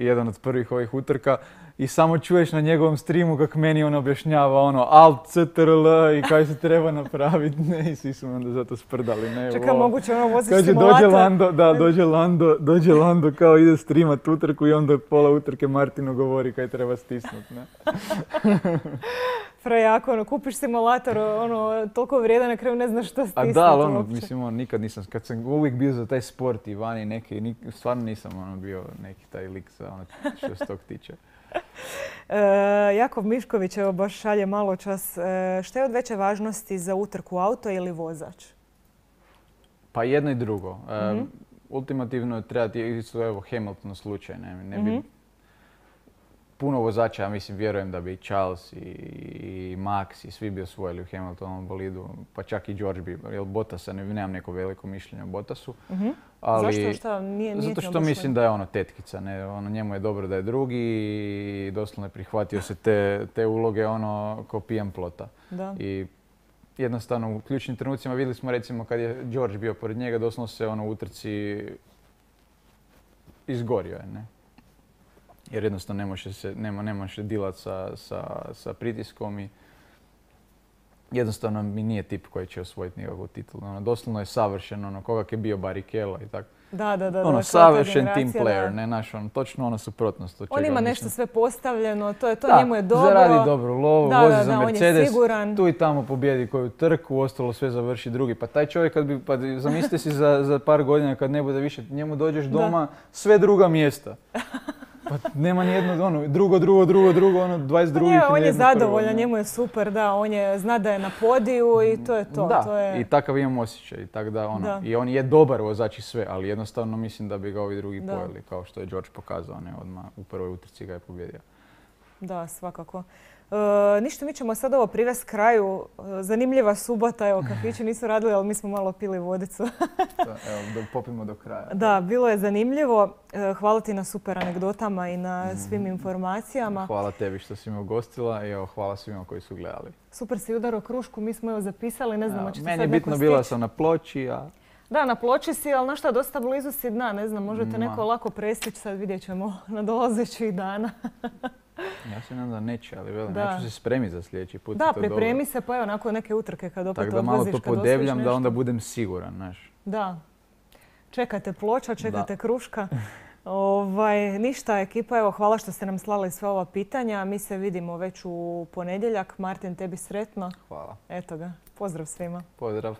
jedan od prvih ovih utrka i samo čuješ na njegovom streamu kako meni on objašnjava ono alt, ctrl i kaj se treba napraviti, ne, i svi su me onda zato sprdali, ne, Čekaj, wow. moguće ono voziš Kaže, simulator. dođe Lando, da, dođe Lando, dođe Lando kao ide streamat utrku i onda pola utrke Martinu govori kaj treba stisnut, ne. Prejako, ono, kupiš simulator, ono, toliko vrijedan, na kraju ne znaš što A stisnuti da, ali ono, uopće. mislim, ono, nikad nisam, kad sam uvijek bio za taj sport i vani neki, nik, stvarno nisam ono bio neki taj lik za ono što se tog tiče. E, Jakov Mišković, evo baš šalje malo čas. E, šta je od veće važnosti za utrku, auto ili vozač? Pa jedno i drugo. E, Mhm. Ultimativno treba ti, isto evo Hamilton slučaj, ne, ne bi, Mhm. puno vozača, ja mislim, vjerujem da bi Charles i, i Max i svi bi osvojili u Hamiltonovom bolidu, pa čak i George bi, jer Bottasa, ne, nemam neko veliko mišljenje o Bottasu. Mhm. Ali, Zašto? Šta? Nije, nije zato ti što baš mislim lep. da je ono tetkica, ne, ono, njemu je dobro da je drugi i doslovno je prihvatio se te, te uloge ono ko pijan plota. Da. I jednostavno u ključnim trenucima vidjeli smo recimo kad je George bio pored njega, doslovno se ono u utrci izgorio je, ne? Jer jednostavno ne može se, nema, ne može dilat sa, sa, sa pritiskom i jednostavno mi nije tip koji će osvojiti nikakvu titulu. Ono, doslovno je savršen, ono, koga je bio Barrichello i tako. Da, da, da. Ono, da, savršen team generacija, player, da. ne, naš, ono, točno ono suprotnost. od On čega ima mislim. nešto sve postavljeno, to, je, to Da, njemu je dobro. zaradi dobru lovu, Da, vozi da, za da, on je Mercedes, siguran. tu i tamo pobjedi koju trku, ostalo sve završi drugi. Pa taj čovjek, kad bi, pa zamislite si za, za par godina kad ne bude više, njemu dođeš doma, sve druga mjesta. Pa nema ni jedno, ono, drugo, drugo, drugo, drugo, ono, dvadeset Pa drugih. nije, i on je nijedno prvo, zadovoljan, ne. njemu je super, da, on je, zna da je na podiju i to je to. Da, to je... i takav imam osjećaj. I, tak da, ono, Da. I on je dobar vozač i sve, ali jednostavno mislim da bi ga ovi drugi Da. pojeli, kao što je George pokazao, ne, odmah u prvoj utrci ga je pobjedio. Da, svakako. E, ništa, mi ćemo sad ovo privesti kraju. E, zanimljiva subota, evo, kafići nisu radili, ali mi smo malo pili vodicu. Da, evo, da popimo do kraja. Da, bilo je zanimljivo. E, hvala ti na super anegdotama i na svim informacijama. Hvala tebi što si me ugostila i evo, hvala svima koji su gledali. Super si udarao krušku, mi smo evo zapisali, ne znamo Evo, će meni sad je neko bitno bila stići. sam na ploči, a Da, na ploči si, ali na šta, dosta blizu si dna, ne znam, možete Ma. neko lako prestići, sad vidjet ćemo na dolazećih dana. ja se nadam da neće, ali velim, Da. ja ću se spremiti za sljedeći put. i Da, to pripremi dobro. se, pa evo, nakon neke utrke kad opet Tako da malo odlaziš, to kad osvojiš podebljam da nešto. onda budem siguran, znaš. Da. Čekate ploča, čekate Da. kruška. Ovaj, ništa, ekipa, evo, hvala što ste nam slali sve ova pitanja. Mi se vidimo već u ponedjeljak. Martin, tebi sretno. Hvala. Eto ga. Pozdrav svima. Pozdrav.